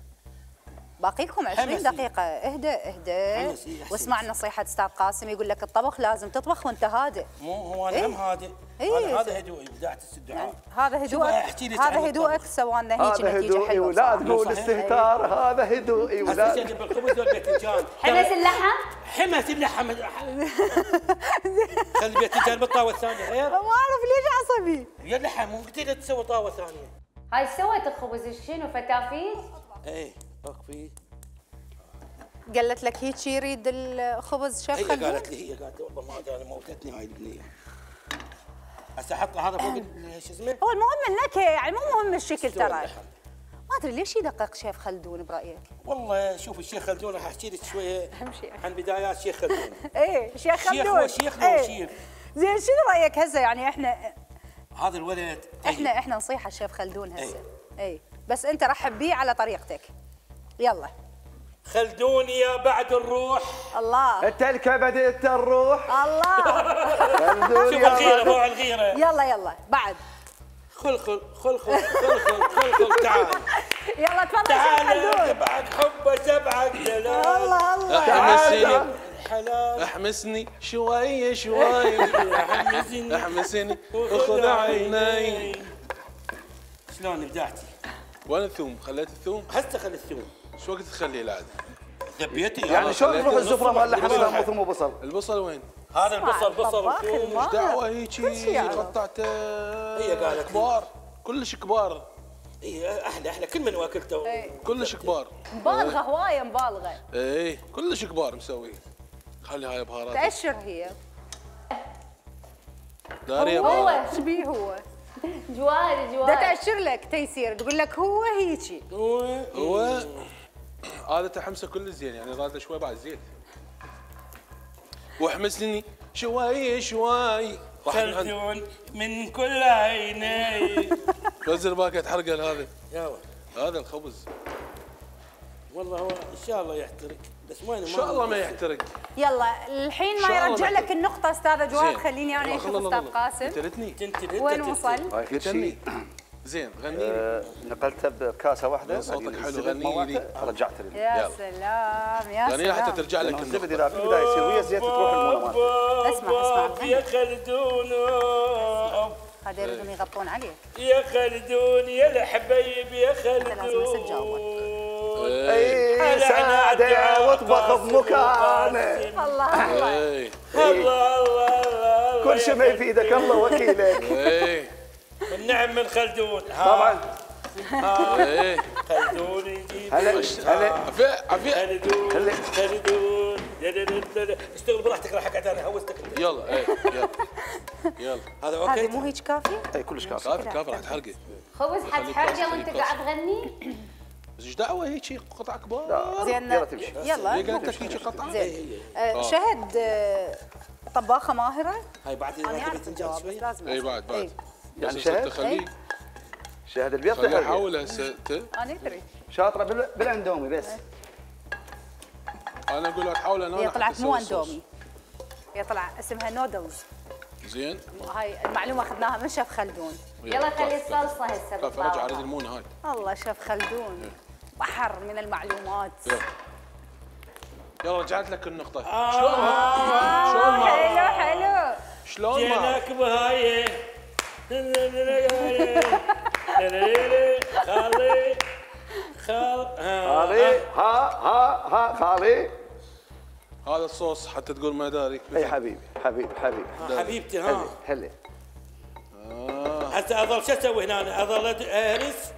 باقيكم عشرين
حمسي.
دقيقة اهدى اهدى
حمسي، أحسن.
واسمع نصيحة استاذ قاسم يقول لك الطبخ لازم تطبخ وانت هادئ.
مو هو انا
إيه؟
هم هادئ.
إيه.
هذا هذا هدوئي بدايه الدعاء.
يعني هذا
شوف
هدوءك
أحكي لك عن
هذا هدوءك
الطبخ.
سوى لنا هيك
هذا
نتيجة
هدوئي
حلوة
ولا
بصراحة.
تقول
صحيح.
استهتار. هذا هدوئي
هسه
ولا
جنب الخبز والباذنجان.
حمص اللحم.
حمس اللحم. خلي الباذنجان بالطاوه الثانيه غير.
ما اعرف ليش عصبي.
يا اللحم مو قلت لها تسوي طاوه ثانيه.
هاي سوت الخبز شنو فتافيت؟
ايه اكفي.
قالت لك هيك يريد الخبز شيف
هي
خلدون؟
قالت لي هي قالت لي والله ما ادري انا موتتني هاي البنيه. هسه احط هذا فوق ال- شو اسمه؟
هو المهم النكهة يعني مو مهم الشكل
استوى
ترى.
اللحم.
ما ادري ليش يدقق شيف خلدون برايك؟
والله شوف الشيخ خلدون راح احكي لك شويه
أهم شيء.
عن بدايات شيخ خلدون.
ايه شيخ
شيخ
خلدون.
هو شيخ لو
إيه.
شيخ.
زين شنو رايك هسه يعني احنا
هذا الولد طيب.
احنا احنا نصيحه الشيف خلدون هسه. اي بس انت رحب بيه على طريقتك. يلا.
خلدون يا بعد الروح.
الله
انت الكبد الروح.
الله
خلدون
شوف
يا
الغيره
بعد.
مو الغيره.
يلا يلا بعد.
خلخل خلخل خلخل خلخل تعال
يلا تفضل شيف
تعال
خلدون.
تبعك حبه تبعك دلال.
الله الله.
احمسني
حلال
احمسني شوي شوي
حمسني
احمسني وخذ عيني.
شلون ابدعتي؟
وين الثوم؟ خليت الثوم؟
هسه خلي الثوم.
شو وقت تخليه العاد؟
ذبيتي
يعني شلون
خليته
تروح
نص
الزفره مال
نص
اللحم
نص.
مو ثوم وبصل؟
البصل وين؟
هذا البصل بصل
طباخ
وثوم.
الماهر.
دعوه
كل شيء
هيجي
يعرف.
قطعته
هي قالت لي.
كبار كلش كبار.
اي احلى احلى كل من واكلته.
كلش كبار.
مبالغه هوايه مبالغه.
اي كلش كبار مسوي. خلي هاي بهارات.
تأشر هي.
داري
هو
بهارات.
ايش بيه هو؟
جواد
ده
جواد
تأشر لك تيسير تقول لك هو هيجي.
هو هذا تحمسه كل زين يعني راد شوي بعد زيت. واحمسني شوي شوي.
خلدون من كل عيني.
نزل باكت حرقه هذا.
يلا
هذا الخبز.
والله هو ان شاء الله يحترق بس وين
ان شاء الله ما يحترق.
يلا الحين ما يرجع لك النقطة استاذ جواد خليني انا اشوف استاذ قاسم.
قتلتني.
وين وصل؟
هاي كل شيء
زين غني لي.
آه، نقلته بكاسه واحده
صوتك حلو،
الزبد
غني
موعته،
لي.
رجعت لي
يا
يلا.
سلام يا
غني لي حتى
سلام.
ترجع لك
الزبد
النقطة.
اذا في البدايه يصير ويا الزيت تروح المونه مالته.
اسمع اسمع
يا خلدون
هذا يريدون يغطون عليك.
يا خلدون يا الحبايب يا
لازم بس تجاوب.
خلدون.
اي ساده واطبخ بمكانه.
الله الله.
اي
الله الله الله
كل شيء ما يفيدك الله وكيلك.
اي
النعم من خلدون.
طبعا
اي
خلدون يجيب
هلا هلا
عفية عفية.
خلدون
هلا.
خلدون. اشتغل براحتك راح اقعد انا هوستك انت.
يلا اي يلا يلا.
هذا
هذه
اوكي.
مو هيك كافية؟
اي كلش كافي.
كافي كافي راح تحرقي.
خبز حتحرقه وانت
خليك
قاعد تغني.
بس ايش دعوه هيك قطع كبار.
زين
يلا تمشي.
يلا
ليه قالت لك هيك قطعه؟
زين آه، شهد آه، طباخة ماهرة؟
هاي بعد
انا
اذا
اعرف
تبي
الجواب
تنجز
بس
شوي.
لازم
اي
أسمع.
بعد بعد.
إي.
يعني
بس
شهد؟
خليه
شاهد البيض
خليه
تحرقه.
يحاول هسه ت-
انا ادري.
شاطره بال- بالاندومي بس.
انا اقول لك حاول انا
هي
حتى
طلعت مو
أسوي الصوص.
اندومي. هي طلع اسمها نودلز.
زين
هاي المعلومة اخذناها من شيف خلدون.
يلا خلي الصلصه هسه
كيف رجع اريد
بالطاوله.
المونه هاي.
الله شيف خلدون بحر من المعلومات.
يلا. يلا رجعت لك النقطة. شلون ما شلون ما
حلو حلو.
شلون ما
جيناك بهاي خالي خال
خالي ها ها ها خالي.
هذا الصوص حتى تقول ما داري.
اي حبيبي حبيبي حبيبي.
حبيبتي
هلا
ها
هلا.
هسه اظل شو اسوي هنا؟ اظل اهرس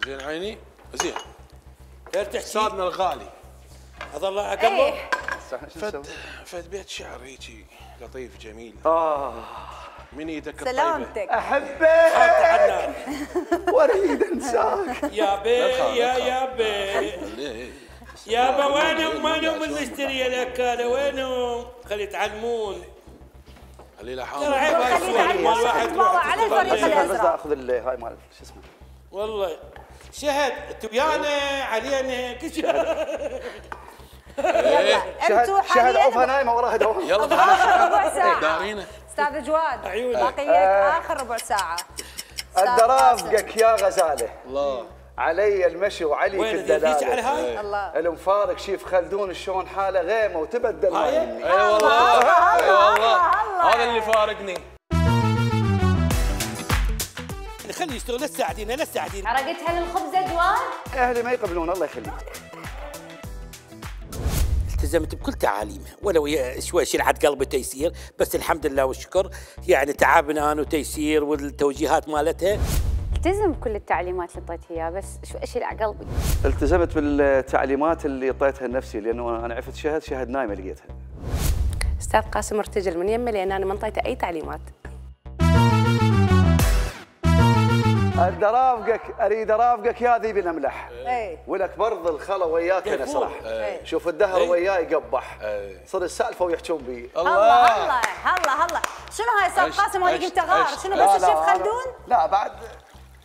زين عيني زين.
تحكي
استاذنا الغالي.
اظل اقلب.
ايه
فد فد بيت شعر هيجي لطيف جميل
اه
من ايدك الطيبة.
سلامتك.
احبك
حنان
واريد انساك.
يا بي يا يا بي
ليه؟
يابا وينهم وينهم المشتري الاكاله وينهم؟ خلي يتعلمون.
خليه له
ترى
حامل.
عيب هاي
خلينا على
السوالف مال
الوسط
واحد
تتباوع
يروح
على
تشتغل.
الفريق
بس
الازرق.
اخذ ال- هاي مال شو اسمه.
والله شهد انتوا ويانا علينا كل شيء.
يلا انتوا
شهد شهد عوفها
حاليا
نايمه وراها دوام.
يلا
اخر ربع ساعة.
دارينا.
استاذ جواد
عيوني.
باقي لك اخر ربع ساعة. أستاذ
اقدر
قاسم.
افقك يا غزاله.
الله.
علي المشي وعلي في
وين ذي على
الدلاله.
هاي؟
الله
المفارق شيف خلدون شلون حاله غيمه وتبدل
هاي؟
ما مني.
اي والله اي والله
الله.
هذا اللي فارقني.
خلي يشتغل لا تساعدينا لا تساعدينا.
حرقتها للخبزه جواد.
اهلي ما يقبلون الله يخليك.
التزمت بكل تعاليمها ولو هي شوي شلعت قلبي تيسير بس الحمد لله والشكر يعني تعبنا انا وتيسير والتوجيهات مالتها.
التزم بكل التعليمات اللي اعطيتها اياها بس شو اشيل على قلبي.
التزمت بالتعليمات اللي اعطيتها لنفسي لانه انا عرفت شهد شهد نايمه لقيتها.
استاذ قاسم ارتجل من يمه لان انا ما انطيته اي تعليمات.
اقدر ارافقك اريد ارافقك يا ذيب الاملح.
اي
ولك برض الخلا وياك نسرح.
إيه.
شوف الدهر
إيه.
وياي يقبح.
إيه.
صار السالفه ويحجون بي.
هلا هلا هلا هلا. شنو هاي استاذ
عشت-
قاسم؟ وانا
عشت-
قلت غار.
عشت.
شنو
لا،
بس
لا،
الشيف
أنا-
خلدون؟
لا بعد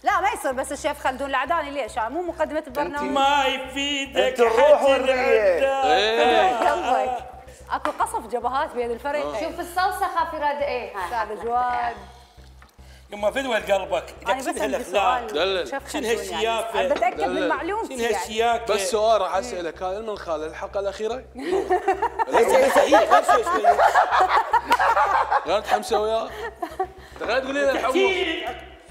لا ما يصير بس الشيف خلدون العداني ليش؟ مو مقدمة البرنامج.
ما يفيدك
أنت الروح
حد
والريح.
العدا.
قلبك اكو قصف جبهات بين الفريقين.
شوف الصلصه خافي راد ايه هاي.
استاذ جواد
يما فدوى قلبك
انا
لك
بس
شنو
عندي
هالاخلاق؟
سؤال
دلل.
شيف
شنو
خلدون
هالشياكة؟
يعني بتاكد من
دلل.
معلومتي
شنو
يعني.
هالشياكه؟
بس سؤال راح اسالك هذا من خال الحلقه الاخيره؟
هسه هسه هي خمسة شوي.
غير تحمسه وياه؟ تغير تقولي لي الحمص.
تحكي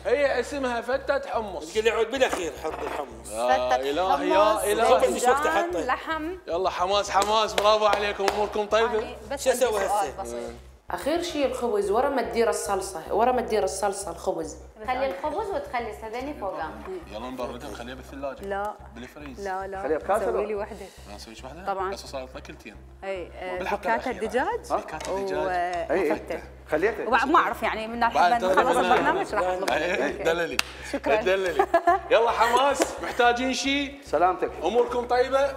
هي اسمها فتة حمص.
تقول لي عود بالاخير حط الحمص.
يا
فتة
الهي يا
حمص،
الهي.
شو وقت
باذنجان،
أحطه؟
لحم.
يلا حماس حماس برافو عليكم اموركم طيبه.
يعني بس
شو
عندي
أسوي
سؤال
هسه؟
بسيط.
اخير شيء الخبز ورا ما تدير الصلصه، ورا ما تدير الصلصه الخبز.
خلي الخبز وتخلي هذني فوقها.
يلا نبردها نخليها بالثلاجه.
لا
بالفريز.
لا لا
خليها بكاسة
سوي
لو؟
لي وحده.
ما نسويش واحده؟
طبعاً.
هسه صارت لك كلتين.
اي آه،
بالحلقة
بكاتا
الأخيرة.
الدجاج
بكاتا الدجاج.
اي
وفتة.
اي خليتها
وبعد ما اعرف يعني من
بعد
الحين
ترى
نخلص
أنا-
البرنامج راح اطلب.
اي
أوكي.
دللي.
شكراً.
دللي. يلا حماس، محتاجين شيء؟
سلامتك.
اموركم طيبه؟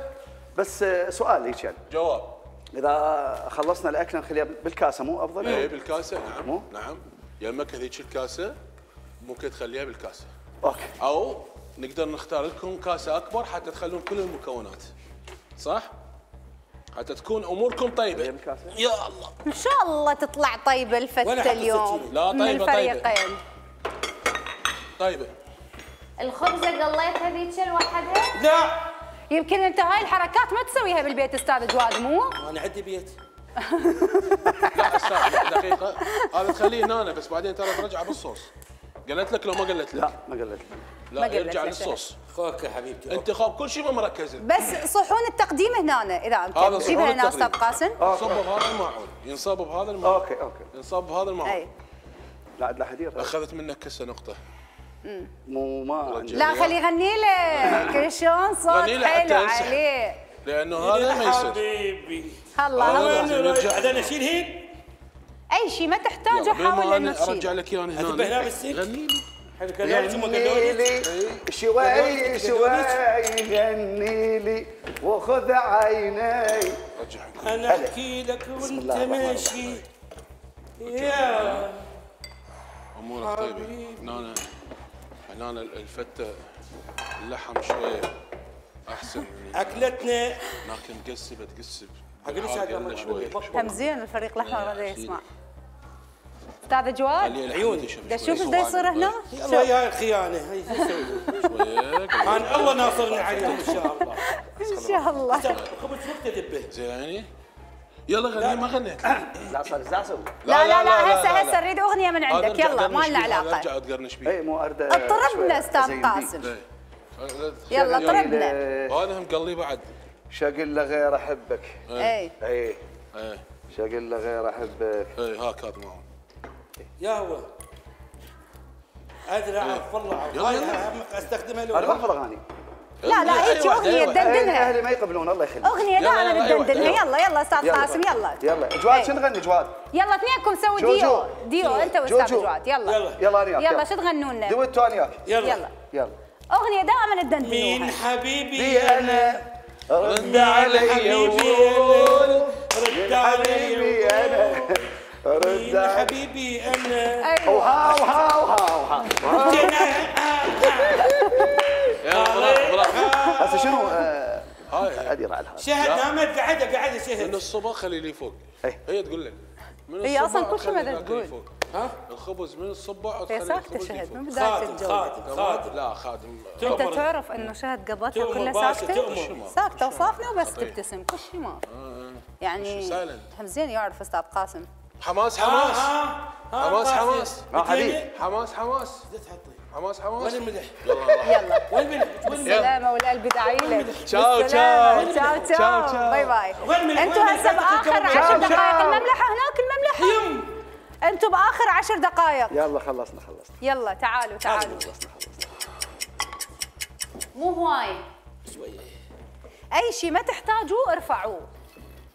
بس آه، سؤال هيك يعني
جواب.
اذا خلصنا الاكل نخليها بالكاسه مو افضل؟
اي بالكاسه نعم.
مو؟
نعم. يمك هذيك الكاسه ممكن تخليها بالكاسه.
اوكي.
او نقدر نختار لكم كاسه اكبر حتى تخلون كل المكونات. صح؟ حتى تكون اموركم طيبه.
هي بالكاسة؟
يا الله.
ان شاء الله تطلع طيبه
ولا
الفته
حتى
اليوم
ستين.
لا،
من
طيبة، طيبة.
الفريقين.
طيبه.
الخبزه قليت هذيك لوحدها؟
لا
يمكن انت هاي الحركات ما تسويها بالبيت استاذ جواد مو؟
انا عندي بيت.
لا استاذ دقيقه هذا تخليه هنا بس بعدين ترى ترجعه بالصوص. قلت لك لو ما قلت لك؟
لا ما قلت.
لا
ما قلت
يرجع
لك.
للصوص.
خوك يا حبيبتي.
انتخاب كل شيء ما مركزه.
بس صحون التقديم هنا اذا
هذا
امكن
صحون
جيبها هنا استاذ
التقديم.
قاسم.
ينصب بهذا الماعون، ينصب بهذا الماعون،
اوكي اوكي.
ينصب بهذا الماعون.
اي
لا عاد لا حدير.
اخذت منك كسه نقطه.
مو ما عندي.
لا خليه يغني لك شلون صوت
غني له حتى
حلو
ينسح.
عليه.
لانه هذا ما يصير.
حبيبي.
الله
هذا
الله.
لازم يرجع.
بعدين اشيل هين.
اي شيء ما تحتاجه
بما
حاول انه
أنا ارجع
تشيل.
لك اياه هنا.
أذبح هنا بالسلك؟
غني لي.
حلو كذلك ثم
غني
قالوا
لي شوي شوي غني لي وخذ عيني.
رجع.
انا احكي لك وانت
الله الرحمن
ماشي. يا
امورك طيبه. هنا هنا الفته اللحم شويه احسن من
اكلتنا.
لكن مقسبه تقسب.
حق ليش
الحار
هذا
قلنا
ما
شويه.
هم زين الفريق الاحمر
لا،
هذا
أكيد.
يسمع. استاذ جواد
خليه
عيوني.
الحمد يشوف
دا
شوية.
شوف ايش دا يصير هنا.
الله يا الخيانه هي شو اسوي؟
شويه.
انا الله ناصرني عليهم ان شاء الله.
ان شاء الله.
خبز وقت ذبه.
زين يعني يلا غني ما غنيت.
لا صار لا اسوي.
لا لا لا هسه
لا.
هسه نريد اغنيه من عندك
أرجع
يلا ما
أقرنش
لنا
بيه،
علاقه.
ارجع اتقرنش
اي
بيه.
مو ارد.
اضطربنا استاذ قاسم.
إيه.
يلا طربنا.
وهذا مقلي بعد.
شقل له غير احبك.
اي
اي
ايه
شقل له غير احبك.
ايه هاك هذا معهم.
يا هو ادري اعرف والله
يلا،
هاي
يلا.
هم استخدمها
انا
لو
بحفظ اغاني.
لا لا هيك
أيوة،
اغنيه
أيوة.
تدندنها.
اهلي ما يقبلون الله يخليك.
اغنيه
يلا،
دائما
يلا، أيوة،
تدندنها.
أيوة.
يلا يلا استاذ
يلا.
قاسم يلا
يلا جواد
إيه.
شو نغني جواد؟
يلا اثنينكم سووا
جو-
ديو
جو.
ديو انت
جو-
واستاذ
جو.
جواد يلا
يلا.
يلا انا وياك.
يلا شو تغنوا لنا؟
دويتو انا وياك.
يلا
يلا
يلا.
اغنيه دائما
مين
تدندنوها.
حبيبي
بي انا رد علي
حبيبي
وقول
أنا رد علي
حبيبي انا رد
مين
علي.
حبيبي انا
ايوه
وها وها وها
يلا براحة براحة.
هسه شنو آه،
هاي
ادير على هذا.
شهد نامت قاعده قاعده
من
شهد.
الصبح خلي لي فوق.
إيه.
هي تقول لك. من
هي
الصبح
أصلاً كل شيء ما
تخلي
تقول.
الأكل فوق.
ها
الخبز من الصبح
هي
تخلي
ساكته
الخبز
شهد من
فوق.
بدايه
خادم
الجو.
خادم خادم
لا خادم.
انت
تؤمر.
تعرف انه شهد قضتها
تؤمر
كلها
باشا،
ساكته؟
تؤمر.
ساكته وصافنه وبس
خطير.
تبتسم كل شيء ما يعني
silent.
هم زين يعرف استاذ قاسم.
حماس
ها
حماس.
ها ها
حماس
قاسم.
حماس.
ها حبيبي.
حماس حماس.
زيت حطي.
حماس حماس.
وين الملح؟
يلا
وين الملح؟ وين الملح؟
بالسلامة والقلب داعي لك.
تشاو،
بالسلامة.
تشاو.
تشاو
تشاو،
تشاو
تشاو.
باي باي.
وين الملح؟
انتوا
وين
هسه
الملح؟
باخر
تشاو،
عشر
تشاو.
دقائق المملحة هناك المملحة.
يم
انتوا باخر عشر دقائق.
يلا خلصنا خلصنا.
يلا تعالوا تعالوا.
مو هواي.
شويه.
اي شيء ما تحتاجوه ارفعوه.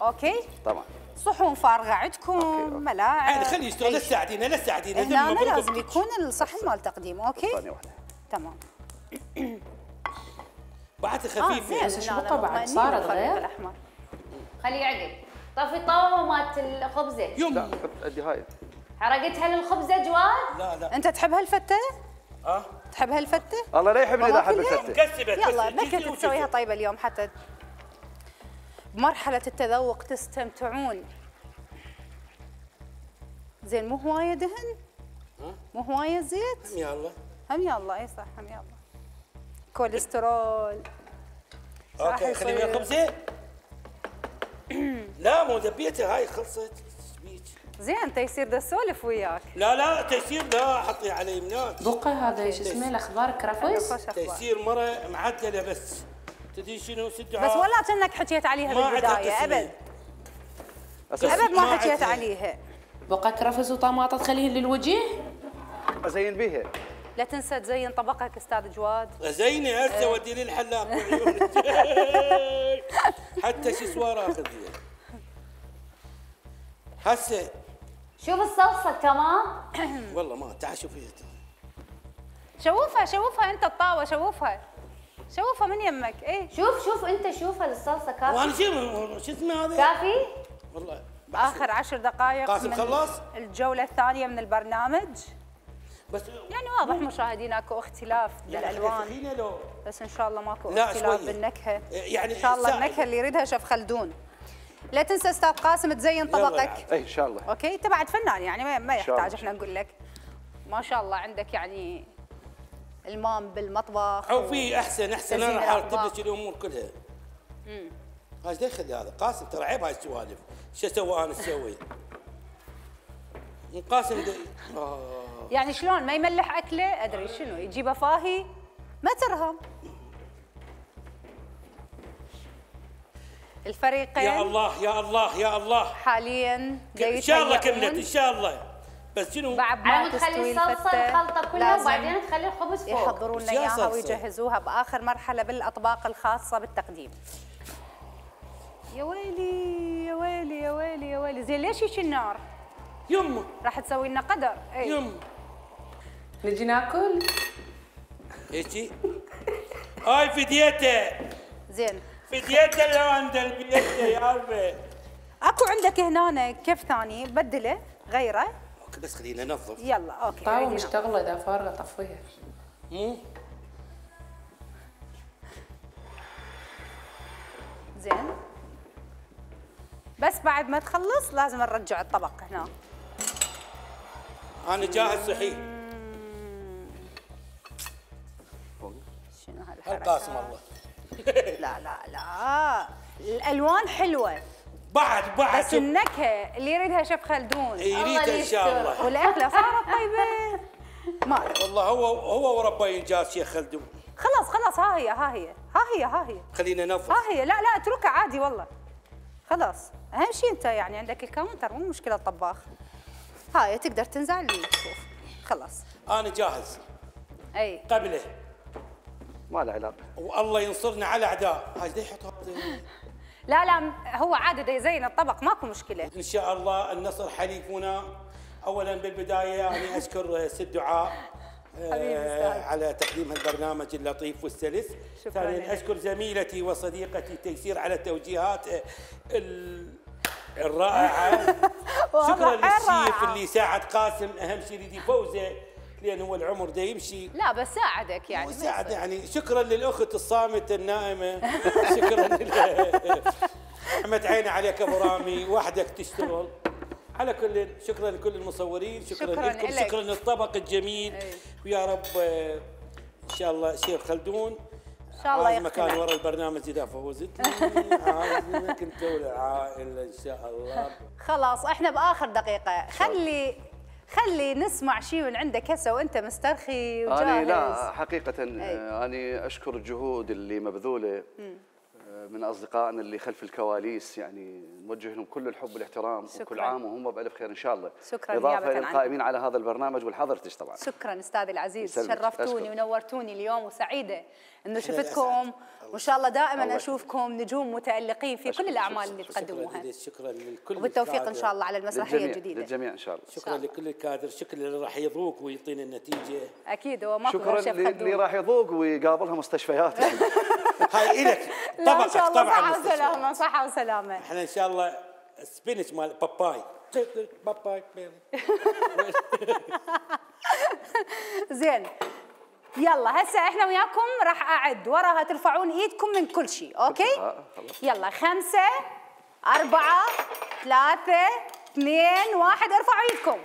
اوكي؟
طبعا.
صحون فارغة عندكم ملاعب.
عادي خليه يشتغل لا تساعدينا لا تساعدينا.
هنا أنا لازم يكون الصحن مال تقديم اوكي؟
ثانية واحدة.
تمام.
بعد
اه
خفيف.
زين
بس
هنا
الشبكة بعد
مطمئنين
صارت
بالفريق
غير؟
الأحمر.
خليه يعقد. طفي طاوة مالت الخبزة.
لا
يم
حط ادي هاي.
حرقتها للخبزة جواد؟
لا لا
انت تحب هالفتة؟
اه
تحب هالفتة؟
الله لا يحبني اذا احب
ممكن هيك؟
الفتة.
كسبت
يلا
بس
بكت
جيتي
تسويها
وجيتي.
طيبة اليوم حتى بمرحلة التذوق تستمتعون. زين مو هواية دهن؟ مو هواية زيت؟
يلا
هم يلا اي صح هم يلا. كوليسترول. راح
اوكي خلي ويا
يصير.
الخبزه. لا مو ذبيتها هاي خلصت. إيش بيك؟
زين انت يصير دا اسولف وياك.
لا لا تيسير لا حطي علي مناك.
بقى هذا شو اسمه الاخبار كرفس.
خوش أخبار.
تيسير مره معدله بس. تدري شنو ست
بس
دعاء.
ولا كأنك حكيت عليها
ما عندها
بالبداية
تسمية.
ابد
أساس
ابد
ما
ما حكيت
عندها.
عليها.
بقى كرفس وطماطة تخليهن للوجه؟
ازين بيها.
لا تنسى تزين طبقك استاذ جواد.
زيني هسه ودي لي الحلاق حتى شسوار اخذ هسه.
شوف الصلصه تمام.
والله ما تعال شوفي.
شوفها شوفها انت الطاوه شوفها شوفها من يمك. ايه
شوف شوف انت شوفها الصلصه كافي.
وانا شو شو اسمه هذا؟
كافي؟
والله
اخر عشر دقائق
قاسم
من
خلص؟
الجوله الثانيه من البرنامج.
بس
يعني واضح مشاهدينا اكو اختلاف بالالوان،
يعني لو
بس ان شاء الله ماكو
لا
اختلاف
شوية.
بالنكهه.
يعني
ان شاء الله
سا-
النكهه اللي يريدها شيف خلدون. لا تنسى استاذ قاسم تزين طبقك.
اي ان شاء الله.
اوكي انت بعد فنان يعني ما, ما
إن شاء الله.
يحتاج احنا نقول لك. ما شاء الله عندك يعني المام بالمطبخ.
او في احسن احسن انا
تزيين
راح ارتب
الأطباق.
لك الامور كلها. امم ايش دخل هذا؟ قاسم ترى عيب هاي السوالف. شو اسوي انا اسوي؟ قاسم دي... آه.
يعني شلون ما يملح اكله ادري شنو يجيبه فاهي ما ترهم. الفريقين
يا الله يا الله يا الله
حاليا
ان شاء الله كملت ان شاء الله. بس شنو؟
بعد ما
على
تستوي
تخلي الصلصه
الفتة
الخلطه كلها
لازم
وبعدين تخلي الخبز فوق.
يحضرون لنا
يا
اياها
صلصة.
ويجهزوها باخر مرحله بالاطباق الخاصه بالتقديم. يا ويلي يا ويلي يا ويلي يا ويلي. زين ليش هيك النار؟
يمه
راح تسوي لنا قدر. اي
يمه
نجي ناكل؟
هيجي هاي فديته
زين
فديته اللي عند البيته يا عمي.
اكو عندك هنا كيف ثاني بدله غيره.
اوكي بس خلينا ننظف.
يلا اوكي
طاوة
عيدي
مشتغلة اذا فارغة طفيها.
مو
زين بس بعد ما تخلص لازم نرجع الطبق هنا.
انا جاهز صحيح.
شنو هالحركه؟
القاسم الله.
لا لا لا الالوان حلوه
بعد بعد
بس النكهه اللي يريدها شيف خلدون
يريد ان شاء الله.
والاكله صارت طيبه. ما أدري.
والله هو هو وربي انجاز شيخ خلدون.
خلاص خلاص ها هي ها هي ها هي ها هي
خلينا ننظف.
ها هي. لا لا اتركها عادي والله. خلاص اهم شيء انت يعني عندك الكاونتر مو مشكله الطباخ. هاي تقدر تنزع اللي تشوف. خلاص
انا جاهز
اي
قبله.
ما له علاقه.
والله ينصرنا على اعداء. هاي ده يحط هذا.
لا لا هو عادي دا يزين الطبق ماكو مشكله.
ان شاء الله النصر حليفنا. اولا بالبدايه يعني اشكر ست دعاء
حبيبي
آه
أستاذ.
على تقديم البرنامج اللطيف والسلس.
شكراً
ثانيا
لك.
اشكر زميلتي وصديقتي تيسير على التوجيهات آه، ال- الرائعه. شكرا
والله حيل
للشيف
رائعة.
اللي ساعد قاسم اهم شيء يريد يفوزه لان هو العمر ده يمشي.
لا بس ساعدك يعني ما
ساعد
يصير.
يعني. شكرا للاخت الصامته النائمه. شكرا لل- حمت عيني عليك ابو رامي وحدك تشتغل. على كل شكرا لكل المصورين. شكرا,
شكراً
لكم.
إلك.
شكرا للطبق الجميل.
أي.
ويا رب آه، ان شاء الله شيخ خلدون
ان شاء الله
عايز مكان
يقتنع.
ورا البرنامج اذا فوزت. عايزك انت والعائله ان شاء الله.
خلاص احنا باخر دقيقه خلي خلي نسمع شيء من عندك هسه وانت مسترخي وجاهز.
أنا لا حقيقة آه، أنا أشكر الجهود اللي مبذولة آه، من أصدقائنا اللي خلف الكواليس، يعني نوجه لهم كل الحب والاحترام.
شكراً.
وكل عام وهم بألف خير إن شاء الله.
شكراً
إضافة
نيابة
للقائمين على هذا البرنامج والحضرتش طبعا.
شكرا استاذي العزيز
يسلمك.
شرفتوني
أشكر.
ونورتوني اليوم وسعيده انه
أسعد.
شفتكم وان شاء الله دائما
الله
اشوفكم نجوم متالقين في كل
أشكرك.
الاعمال اللي
شكرا
تقدموها.
لك. شكرا للكل.
وبالتوفيق ان
الكادر.
شاء الله على المسرحيه
للجميع
الجديده.
للجميع إن شاء الله.
شكرا لكل الكادر. شكرا اللي راح يذوق ويعطينا النتيجه.
اكيد هو ماكو
شكرا
غير شيف
اللي, اللي
خلدون.
راح يذوق ويقابلها مستشفيات.
هاي الك
لا ان
طبقك
شاء الله
طبعا
صحه
مستشفى.
وسلامه صحه وسلامه.
احنا ان شاء الله سبينش مال باباي. باباي
زين يلا هسه احنا وياكم راح اعد وراها ترفعون ايدكم من كل شيء. اوكي
آه، خلاص.
يلا خمسة أربعة ثلاثة اثنين واحد ارفعوا ايدكم.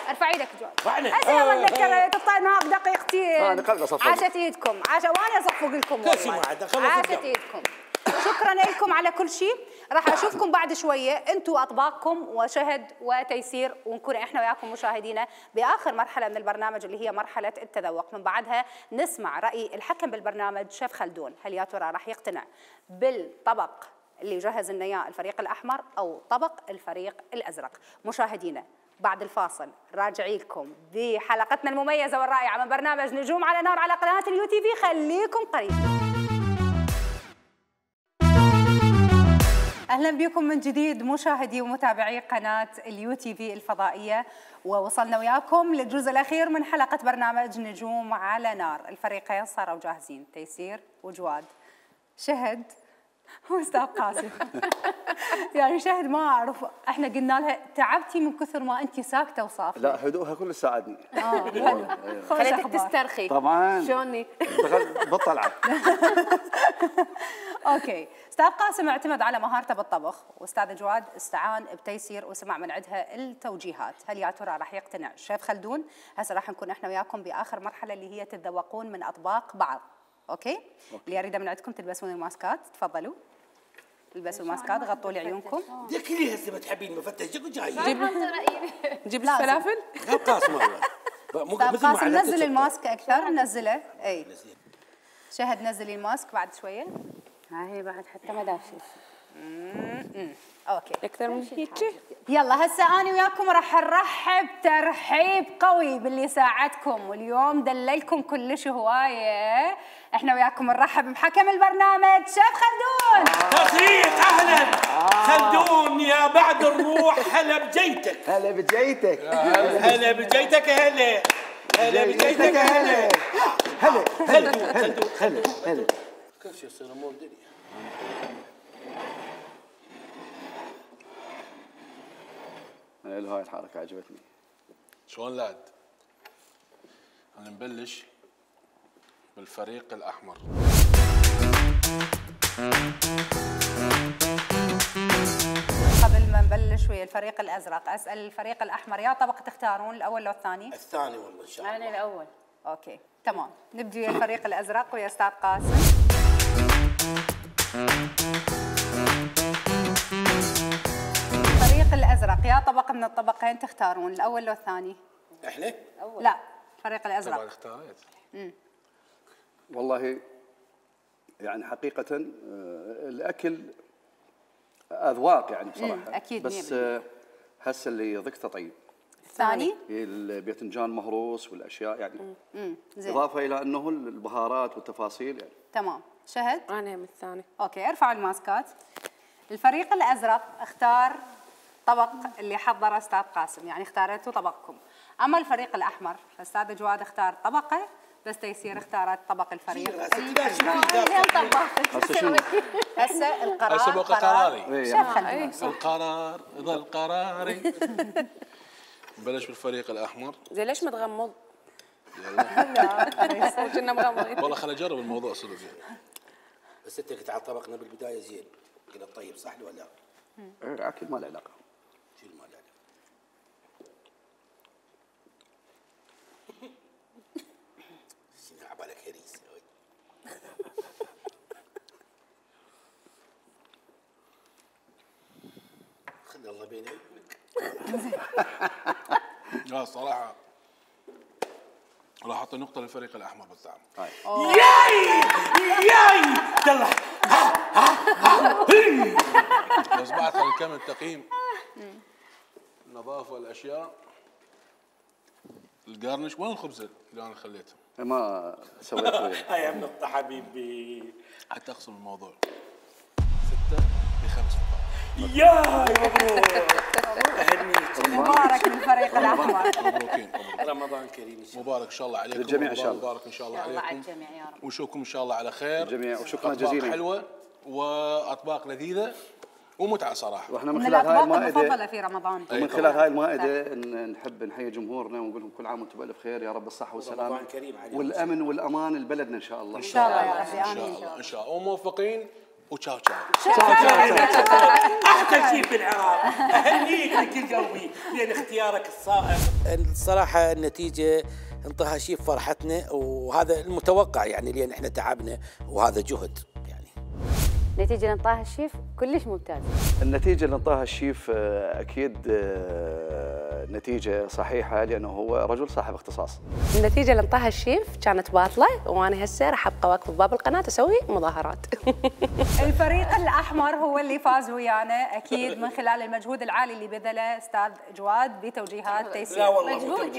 ارفع ايدك جواد.
رفعنا.
هسه يلا
آه،
نتذكر تقطع نهار بدقيقتين.
آه، نقلب صفق.
عاشت ايدكم عاشت وانا اصفق لكم
كل شيء
والله.
معد. خلص
عاشت
الدم.
ايدكم. شكرا لكم على كل شيء. راح اشوفكم بعد شويه انتم واطباقكم وشهد وتيسير ونكون احنا وياكم مشاهدينا باخر مرحله من البرنامج اللي هي مرحله التذوق. من بعدها نسمع راي الحكم بالبرنامج شيف خلدون. هل يا ترى راح يقتنع بالطبق اللي جهز لنا اياه الفريق الاحمر او طبق الفريق الازرق. مشاهدينا بعد الفاصل راجعي لكم بحلقتنا المميزه والرائعه من برنامج نجوم على نار على قناه اليو تي في، خليكم قريبين. اهلا بكم من جديد مشاهدي ومتابعي قناه اليو تي في الفضائيه، ووصلنا وياكم للجزء الاخير من حلقه برنامج نجوم على نار. الفريقين صاروا جاهزين، تيسير وجواد. شهد واستاذ قاسم. يعني شهد ما اعرف، احنا قلنا لها تعبتي من كثر ما انت ساكته وصافيه.
لا هدوءها كله ساعدني.
اه حلو.
خليتك تسترخي.
طبعا
شلوني؟
بطلعه.
اوكي، استاذ قاسم اعتمد على مهارته بالطبخ، واستاذ جواد استعان بتيسير وسمع من عندها التوجيهات. هل يا ترى راح يقتنع الشيف خلدون؟ هسه راح نكون احنا وياكم باخر مرحله اللي هي تتذوقون من اطباق بعض. اوكي؟ أوكي. اللي يريده من عندكم تلبسون الماسكات، تفضلوا. البسوا الماسكات، غطوا لي عيونكم.
ديك اللي هسه ما تحبين مفتش جيب جاي.
جيب جيب لي فلافل.
قاسم والله.
استاذ قاسم نزل الماسك اكثر، نزله. اي شهد نزلي الماسك بعد شويه.
ها هي بعد حتى ما داشت.
اوكي
اكثر من هيك.
يلا هسه انا وياكم راح نرحب ترحيب قوي باللي ساعدكم واليوم دللكم كلش هوايه. احنا وياكم نرحب بحكم البرنامج شيف خلدون.
تصريح اهلا خلدون يا بعد الروح. هلا بجيتك.
هلا بجيتك.
هلا بجيتك. هلا هلا بجيتك. هلا
هلا هلا هلا هلا.
كل شيء يصير امور الدنيا.
حلو، هاي الحركة عجبتني.
شلون لاد؟ انا نبلش بالفريق الاحمر.
قبل ما نبلش ويا الفريق الازرق اسال الفريق الاحمر يا طبق تختارون الاول لو الثاني؟
الثاني والله ان شاء الله.
انا الاول.
اوكي تمام، نبدي ويا الفريق الازرق ويا استاذ قاسم. الفريق الازرق يا طبق من الطبقين تختارون الاول لو الثاني؟
احنا؟
لا الفريق الازرق.
طبعا اختاريت.
والله يعني حقيقة آه، الأكل أذواق يعني بصراحة.
أكيد
بس آه، هسه اللي ضقته طيب.
الثاني؟
الباذنجان مهروس والأشياء يعني.
امم زين.
إضافة إلى أنه البهارات والتفاصيل يعني.
تمام. شهد؟
انا هم الثاني.
اوكي ارفعوا الماسكات. الفريق الازرق اختار طبق اللي حضره استاذ قاسم، يعني اختاريتوا طبقكم. اما الفريق الاحمر فاستاذ جواد اختار طبقه، بس تيسير اختارت طبق الفريق.
هسه شنو؟
هسه القرار
هسه بقى قراري.
شيف خلدون.
القرار ظل قراري. نبلش بالفريق الاحمر.
زين ليش متغمض؟
يلا
كنا مغمضين.
والله خليني اجرب الموضوع صدق زين.
بس انت قلت على طبقنا بالبدايه زين، قلت طيب صح ولا لا؟
ايه اكيد ما له علاقة.
شيل ما له علاقه. عبالك هريس. خلي الله بين عيونك.
لا الصراحة راح اعطي نقطة للفريق الأحمر بالطعم.
ياي ياي يلا.
بس بعد خلي كم التقييم. النظافة والأشياء. القرنش وين الخبز اللي أنا خليته؟
ما سويته.
هاي النقطة حبيبي.
حتى أقسم الموضوع. ستة بخمس نقاط.
ياي مبروك.
مبارك للفريق الاحمر.
مبروكين.
رمضان كريم ان شاء الله.
مبارك ان شاء الله عليكم.
للجميع إن شاء الله.
مبارك ان شاء الله
الله على
عليكم.
الجميع يا رب.
ونشوفكم ان شاء الله على خير.
الجميع وشكرا
أطباق
جزيلا.
حلوة واطباق لذيذة ومتعة صراحة.
واحنا من
من
خلال هاي
الاطباق
المائدة
المفضله في رمضان.
ومن خلال هاي المائدة ن- نحب نحيي جمهورنا ونقول لهم كل عام وانتم بألف خير، يا رب الصحة والسلامة
رمضان كريم عليكم.
والأمن والأمان لبلدنا إن شاء الله.
ان شاء الله يا ربي
ان شاء
امين.
الله ان شاء الله وموفقين وتشاو تشاو.
احسن شيء في العراق. اهنيك بكل قلبي لان اختيارك الصائب. الصراحه النتيجه انطاها شيء فرحتنا وهذا المتوقع يعني لان احنا تعبنا وهذا جهد يعني.
نتيجة اللي انطاها الشيف كلش ممتازة.
النتيجة اللي انطاها الشيف آه، أكيد آه، النتيجه صحيحه لانه هو رجل صاحب اختصاص.
النتيجه اللي انطاها الشيف كانت باطله، وانا هسه راح ابقى واقفه بباب القناه اسوي مظاهرات.
الفريق الاحمر هو اللي فاز ويانا اكيد من خلال المجهود العالي اللي بذله استاذ جواد بتوجيهات تيسير.
لا والله
مجهود.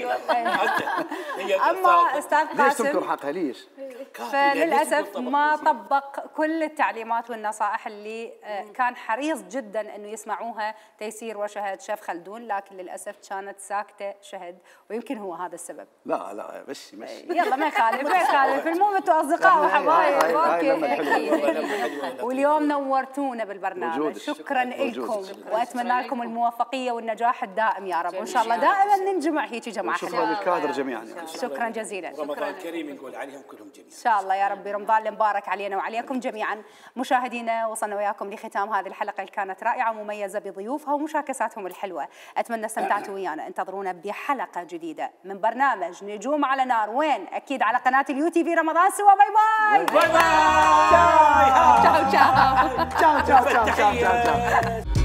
اما استاذ
ليش تنكر
قاسم
حقها ليش؟
فللاسف ما طبق كل التعليمات والنصائح اللي آه، كان حريص جدا انه يسمعوها تيسير وشهد شيف خلدون، لكن للاسف كانت ساكته شهد، ويمكن هو هذا السبب.
لا لا مشي مشي.
يلا ما يخالف ما يخالف، المهم انتم اصدقاء وحبايب.
هاي- هاي لما
اوكي
الحلوة.
اكيد. واليوم نورتونا بالبرنامج،
وجودك.
شكرا لكم
وجودك.
واتمنى لكم الموفقيه والنجاح الدائم يا رب، وان شاء الله دائما ننجمع هيك جماعه
شكرا
حلوه.
للكادر جميعا يعني.
شكرا جزيلا.
رمضان كريم نقول عليهم كلهم جميعا.
ان شاء الله يا ربي رمضان المبارك علينا وعليكم جميعا. مشاهدينا وصلنا وياكم لختام هذه الحلقه اللي كانت رائعه ومميزه بضيوفها ومشاكساتهم الحلوه، اتمنى استمتعتوا ويانا. انتظرونا بحلقه جديده من برنامج نجوم على نار، وين؟ اكيد على قناه اليو تي في رمضان سوا. باي باي
باي باي.
تشاو تشاو
تشاو تشاو تشاو تشاو تشاو.